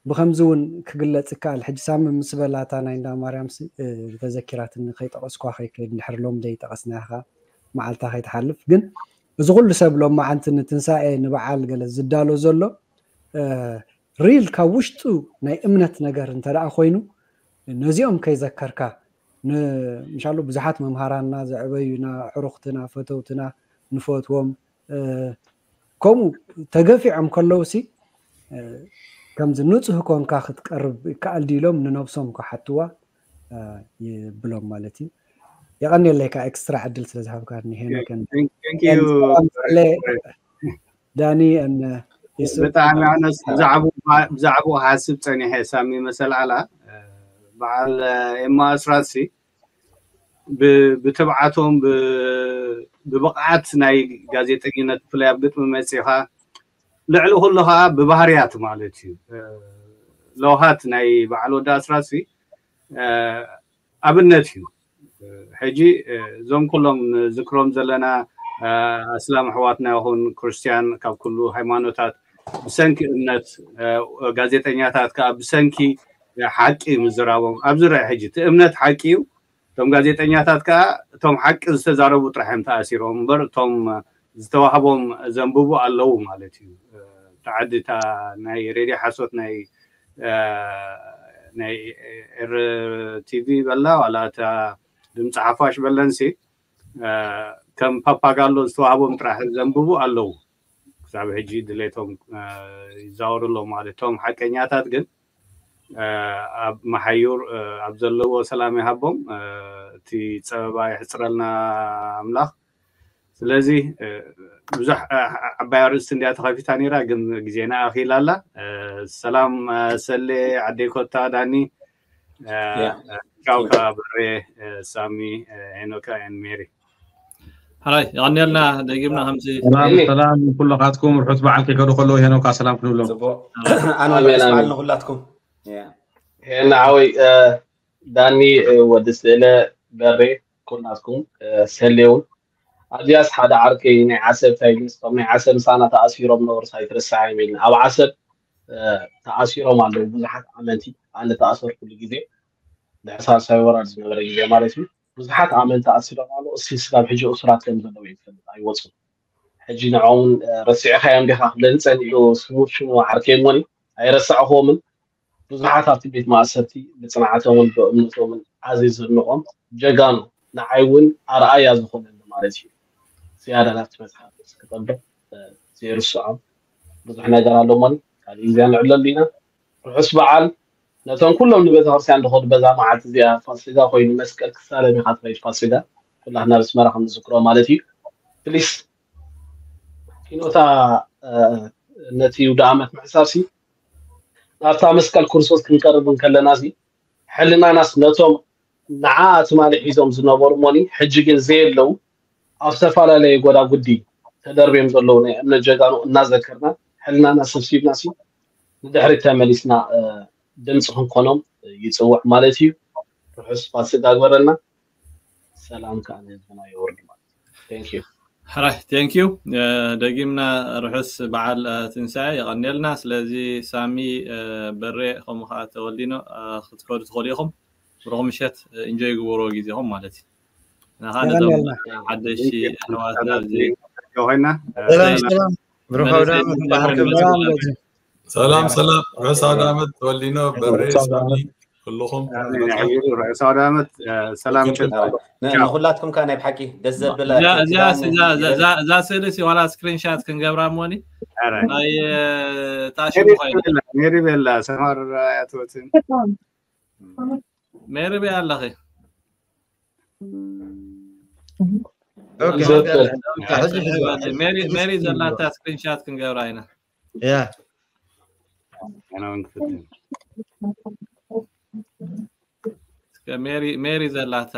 ብኸምዚ እውን ክግለጽ ይከኣል። ሕጂ ሳሚ ምስ በላታ ናይ እንዳ ማርያም ተዘኪራትኒ ከይጠቐስኳ ከይከይድ እንድሕር ሎም ዘይጠቐስናያ ኸዓ መዓልታ ከይትሓልፍ። ግን እዚ ኩሉ ሰብ ሎም መዓንቲ ንትንሳኤ ንበዓል ገለ ዝዳሎ ዘሎ ሪል ካብ ውሽጡ ናይ እምነት ነገር እንተ ደኣ ኮይኑ ነዚኦም ከይዘከርካ ምሻሉ ብዙሓት መምሃራንና ዘዕበዩና ሕሩኽትና ፈተውትና ንፈትዎም ከምኡ ተገፊዖም ከለውሲ ከምዚ ንፁህ ኮንካ ክትቀርብ ይከኣል ድዩ ኢሎም ንነብሶም ክሓትዋ ይብሎም ማለት እዩ። የቐንየለይ ከዓ ኤክስትራ ዕድል ስለ ዝሃብካኒ ሄኖክ። ዳኒ ብጣዕሚ ኣነስ ብዛዕባኡ ክሓስብ ፀኒሐ ሳሚ መሰልዓላ በዓል ኤማ ኣስራትሲ ብትብዓቶም ብብቕዓት ናይ ጋዜጠኝነት ብፍላይ ኣብ ግጥሚ መፂኻ ልዕሊ ኩሉ ከዓ ብባህርያት ማለት እዩ ለውሃት ናይ በዓል ወዲ ኣስራትሲ ኣብነት እዩ። ሕጂ እዞም ኩሎም ንዝክሮም ዘለና ኣስላም ኣሕዋትና ይኹን ክርስትያን ካብ ኩሉ ሃይማኖታት ብሰንኪ እምነት ጋዜጠኛታት ከዓ ብሰንኪ ሓቂ ምዝራቦም ኣብዚ ርአ ሕጂ እቲ እምነት ሓቂ እዩ። እቶም ጋዜጠኛታት ከዓ እቶም ሓቂ ዝተዛረቡ ጥራሕ እዮም ተኣሲሮም እምበር እቶም ዝተዋህቦም ዘንብቡ ኣለዉ ማለት እዩ። ተዓዲ እታ ናይ ሬድዮ ሓሶት ናይ ናይ ኤር ቲቪ በላ ዋላ እታ ድምፂ ሓፋሽ በለንሲ ከም ፓፓጋሎ ዝተዋህቦም ጥራሕ ዘንብቡ ኣለዉ። ክሳብ ሕጂ ድሌቶም ይዛወሩ ኣለዉ ማለት እቶም ሓቀኛታት ግን ኣብ መሓዩር ኣብ ዘለዎ ሰላም ይሃቦም እቲ ፀበባ ይሕፅረልና ኣምላኽ። ስለዚ ብዙሕ ዓባይ ኣርእስቲ እንዲያ ተኸፊታ ነይራ ግን ግዜና ኣኺላ ኣላ። ሰላም ሰሌ ዓደይ ኮታ ዳኒ ቻው ከዓ በሬ ሳሚ ሄኖካ ን ሜሪ። ሕራይ የቐንየልና ደጊምና ከምዚ ሰላም ኩልኻትኩም ርሑስ በዓል ከይከዱ ከለዉ ሄኖካ ሰላም ክንብሎም። ኣነ በዓል ንኩላትኩም። ሄና ሓወይ ዳኒ ወዲ ስእለ በሬ ኩላትኩም ሰሌውን ኣብዚኣስ ሓደ ዓርከይ ናይ ዓሰብ ታይግስ ከም ናይ ዓሰብ ምሳና ተኣሲሮም ነበሩ ኣይትረስዓዮም ኢልና ኣብ ዓሰብ ተኣሲሮም ኣለዉ ብዙሓት ኣመንቲ ኣነ ተኣሰርኩሉ ግዜ ድሕሳብ ሳይወራድ ዝነበረ ግዜ ማለት እዩ ብዙሓት ኣመንቲ ኣሲሮም ኣለዉ እስቲ ስጋብ ሕጂ እሱራት ከም ዘለዉ ይፈልጥ ኣይወፁን ሕጂ ንዕኦም ረሲዕኻዮም ዲኻ ክብለኒ ፀኒሑ ስሙ ሽሙ ዓርከይ እሞኒ ኣይረሳዕኽዎምን ብዙሓት ኣብቲ ቤት ማእሰርቲ ብፅንዓቶምን ብእምነቶምን ኣዝዩ ዝድንቖም ጀጋኑ ንዓይ እውን ኣርኣያ ዝኾነኒ ማለት እዩ። ዝያዳ ናብቲ መፅሓፍ ክጠብቕ ዘይርስዖም ብዙሕ ነገር ኣሎ እሞኒ ካልእ ግዜ ንዕለሉ ኢና። ርሑስ በዓል ነቶም ኩሎም ንቤተክርስትያን ዝኸዱ በዛ መዓልቲ እዚኣ ፋሲጋ ኮይኑ መስቀል ክሳለም ኢኻ ትኸይድ ፋሲጋ ኩላትና ብስመራ ከም ንዝክሮ ማለት እዩ። ፕሊስ ኪኖታ ነቲ ይሁዳ ዓመት ምሕሳብ ሲ ናብታ መስቀል ክርስቶስ ክንቀርብ እንከለና ሲ ሕልናናስ ነቶም ንዓ ትማሊ ሒዞም ዝነበሩ እሞኒ ሕጂ ግን ዘየለዉ ኣብ ዝተፈላለየ ጎዳጉዲ ተደርብዮም ዘለዉ ናይ እምነት ጀጋኑ እናዘከርና ሕልናና ሰብሲብና ሲ ንድሕሪት ተመሊስና ድምፂ ክንኮኖም ይፅውዕ ማለት እዩ። ርሑስ ፋሲጋ ግበረልና። ሰላም ከዓ ንህዝብና የወርድ ማለት እዩ። Thank you። ሕራይ thank you ደጊምና ርሑስ በዓል ትንሳኤ የቐንየልና። ስለዚ ሳሚ በሬ ከምኡ ከዓ ተወልዲኖ ክትከዱ ትኽእሉ ኢኹም። ብሩኽ ምሸት ኢንጆይ ግበሩ ግዜኹም ማለት እዩ። ናኻ ነዞም ሓደሽቲ ኣሕዋትና ኣብዚ ኮይና ሰላም ሰላም ብሩኽ ኣውደ ዓመት እምበኣር ክብል ሰላም ሰላም ርሑስ ኣውደ ዓመት ተወልዲኖ በሬ ሳሚ ኩልኹም ርሑስ ኣውደ ዓመት ሰላም ምሸት ንኹላትኩም ከዓ ናይ ብሓቂ ደስ ዘብል እዛ ስእሊ ሲ ዋላ ስክሪንሻት ክንገብራ እሞኒ ናይ ታሽሙ ኮይና ሜሪ ቤላ ሰማር ኣያትወትን ሜሪ ቤ ኣለኺ ሜሪ ዘላታ ስክሪንሻት ክንገብራ ኢና ያ ሜሪ ሜሪ ዘላታ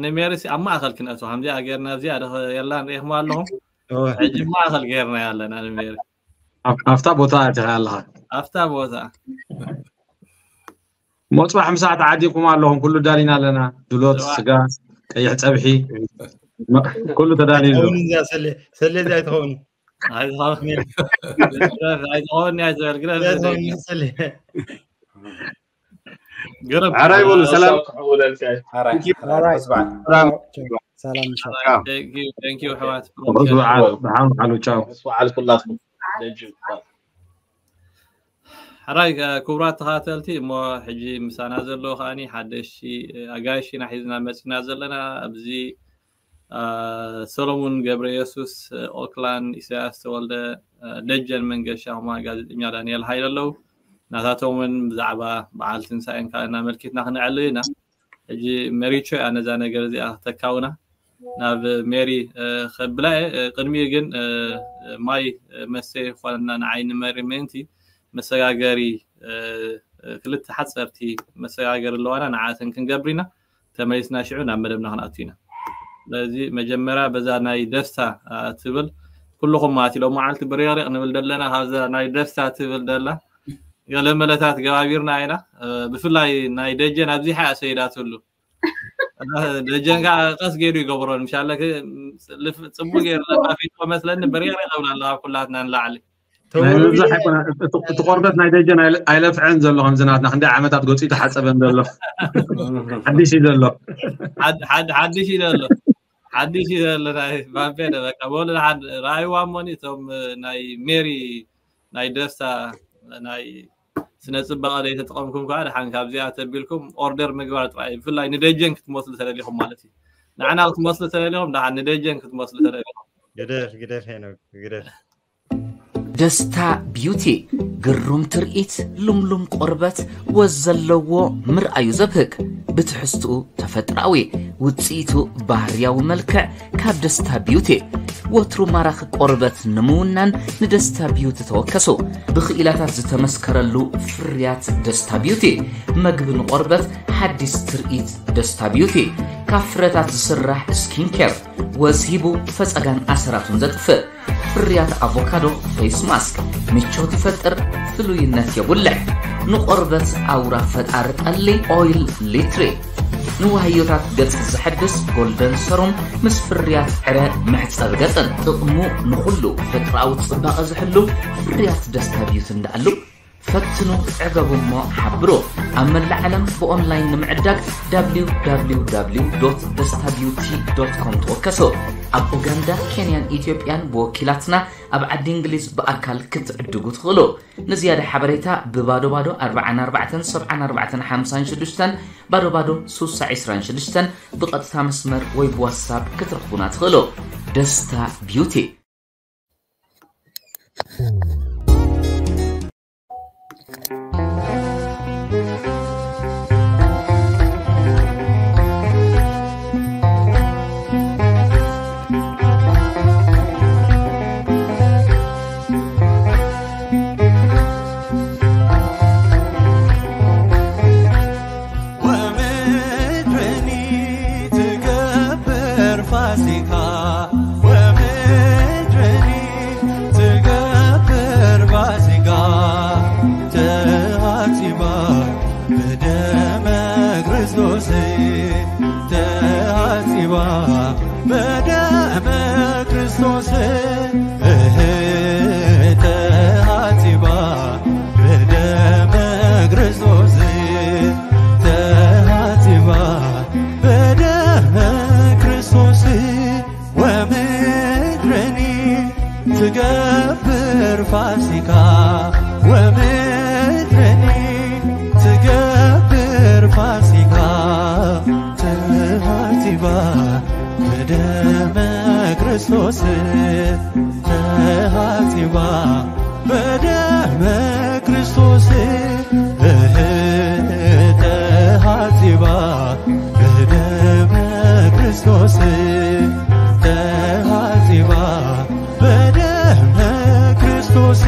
ንሜሪ ኣብ ማእኸል ክነእቶ ከምዚኣ ጌርና ኣብዚኣ የላ ንሪኢኹም ኣለኹም ሕጂ ማእኸል ጌርና ኣለና ንሜሪ ኣብታ ቦታ ኣቲኻ ኣለኻ ኣብታ ቦታ ሞፅባሕ ምሳዕ ተዓዲኩም ኣለኹም ኩሉ ዳሊና ኣለና ድሎት ስጋ ቀይሕ ፀብሒ ኩሉ ተዳልዩ ኣሎ ሰለ እዚ ኣይትኸውን ኣይትኸውን ኣይትበል ግረፍ ሰለ ገረብ። ሕራይ በሉ፣ ሰላም። ክሕውለልካ እዩ። ሕራይ Thank you። ሕራይ ሕራይ። ሕራይ። ሰላም። ሰላም። ሰላም። ሰላም። Thank you, thank you ኣሕዋት። ርሑስ በዓል፣ ደሓን በዓሉ፣ ቻው። ርሑስ በዓል ኩላትኩም። ደጅ ሕራይ፣ ክቡራት ተኸታተልቲ፣ እሞ ሕጂ ምሳና ዘሎ ከዓኒ ሓደሽቲ ኣጋይሽ ኢና ሒዝና መፂና ዘለና። ኣብዚ ሰሎሙን ገብረ የሱስ፣ ኦክላን፣ ኢሳያስ ተወልደ፣ ደጀን መንገሻ፣ ከማ ጋዜጠኛ ዳንኤል ሃይለ ኣለዉ። ናታቶም እውን ብዛዕባ በዓል ትንሳኤን ካልእን ኣመልኪትና ክነዕልል ኢና። ሕጂ መሪቾ እያ ነዛ ነገር እዚኣ ክተካውና። ናብ ሜሪ ከብላ እየ። ቅድሚኡ ግን ማይ መስተ ይኾነና ንዓይ ንመሪ ምእንቲ መሰጋገሪ፣ ክልተ ሓፀርቲ መሰጋገሪ ኣለዋና፣ ንዓተን ክንገብር ኢና። ተመሊስና ሽዑ ናብ መደብና ክንኣቱ ኢና። ስለዚ መጀመርያ በዛ ናይ ደስታ ትብል ኩልኹም ማለት ሎመዓልቲ ብሬቕሬቕ ንብል ዘለና፣ ካብዛ ናይ ደስታ ትብል ደላ ገለ መለታት ገባቢርና ኢና። ብፍላይ ናይ ደጀን ኣብዚሓ እያ ሰይዳትሉ። ደጀን ከዓ ቀስ ገይሩ ይገብሮ። ምሻለ ጽቡቅ ገይሩ ለፋፊቶ መስለኒ፣ ብሬቕሬቕ እብላ ኣለዋ ኩላትና ንላዕሊ። ናይ ምብዛሕ ኣይኮነ፣ እቲ እቲ ቆርበት ናይ ደጀን ኣይለ- ኣይለፍዐን ዘሎ ከምዚ ናትና ክንደይ ዓመታት ገፂ ተሓፀበን ዘሎ ሓድሽ እዩ ዘሎ። ሓድሽ እዩ ዘሎ። ሓድሽ እዩ ዘሎ። ናይ ባቤ ደ በቃ በሉ፣ ሓደ ራእይዋ እሞኒ እቶም ናይ ሜሪ ናይ ደስታ ናይ ስነ ፅባቐ ዘይተጠቐምኩም ከዓ ደሓን ካብዚኣ ተቢልኩም ኦርደር ምግባር ጥራይ። ብፍላይ ንደጀን ክትመስሉ ተደሊኹም ማለት እዩ። ንዓና ክትመስሉ ተደሊኹም፣ ደሓን ንደጀን ክትመስሉ ተደሊኹም። ግደፍ ግደፍ ሄኖክ ግደፍ። ደስታ ቢዩቲ፣ ግሩም ትርኢት፣ ልምሉም ቆርበት፣ ወዝ ዘለዎ፣ ምርኣዩ ዘብህግ፣ ብትሕዝትኡ ተፈጥራዊ፣ ውፅኢቱ ባህርያዊ መልክዕ ካብ ደስታ ቢዩቲ። ወትሩ ማራኺ ቆርበት ንምውናን ንደስታ ቢዩቲ ተወከሱ። ብኽኢላታት ዝተመስከረሉ ፍርያት ደስታ ቢዩቲ። መግቢ ንቆርበት፣ ሓዲስ ትርኢት ደስታ ቢዩቲ። ካብ ፍረታት ዝስራሕ ስኪን ኬር፣ ወዝ ሂቡ ፈፀጋን ኣሰራቱን ዘጥፍእ። ፍርያት ኣቮካዶ ፌስ ማስክ ምቾት ይፈጥር፣ ፍሉይነት የጉልሕ። ንቆርበት ኣውራ ፈጣሪ ጠሊ ኦይል ሊትሪ። ንዋህዮታት ገጽ ዘሐድስ ጎልደን ሰሩም ምስ ፍርያት ዕረ መሕጸቢ ገጽን። ጥቕሙ ንኹሉ ፈጥራዊ ጽባቐ ዝሕሉ ፍርያት ደስታ ቢዩቲ እንዳኣሉ። ፈትኑ፣ ዕገቡ እሞ ሓብሩ። ኣብ መላእ ዓለም ብኦንላይን ንምዕዳግ www.destabeauty.com ተወከሱ። ኣብ ኡጋንዳ፣ ኬንያን ኢትዮጵያን ብወኪላትና፣ ኣብ ዓዲ እንግሊዝ ብኣካል ክትዕድጉ ትኽእሉ። ንዝያዳ ሓበሬታ ብባዶ ባዶ ኣርባዓን ኣርባዕተን ሰብዓን ኣርባዕተን ሓምሳን ሽዱሽተን፣ ባዶ ባዶ ሱሳ ዒስራን ሽዱሽተን ብቐጥታ መስመር ወይ ብዋትሳፕ ክትረኽቡና ትኽእሉ። ደስታ ቢዩቲ። ወምድርኒ ትገብር ፋሲካ፣ ወምድርኒ ትገብር ፋሲካ፣ ተሃጺባ ብደመ ክርስቶስ፣ ተሃጺባ በደመ ክርስቶስ፣ እህ፣ ተሃጺባ በደመ ክርስቶስ፣ ተሃጺባ በደመ ክርስቶስ፣ ወምድርኒ ትገብር ፋሲካ፣ ወምድርኒ ትገብር ፋሲካ፣ ተሃጺባ በደመ ክርስቶስ፣ ተሃጺባ በደመ ክርስቶስ፣ እህ፣ ተሃጺባ በደመ ክርስቶስ፣ ተሃጺባ በደመ ክርስቶስ።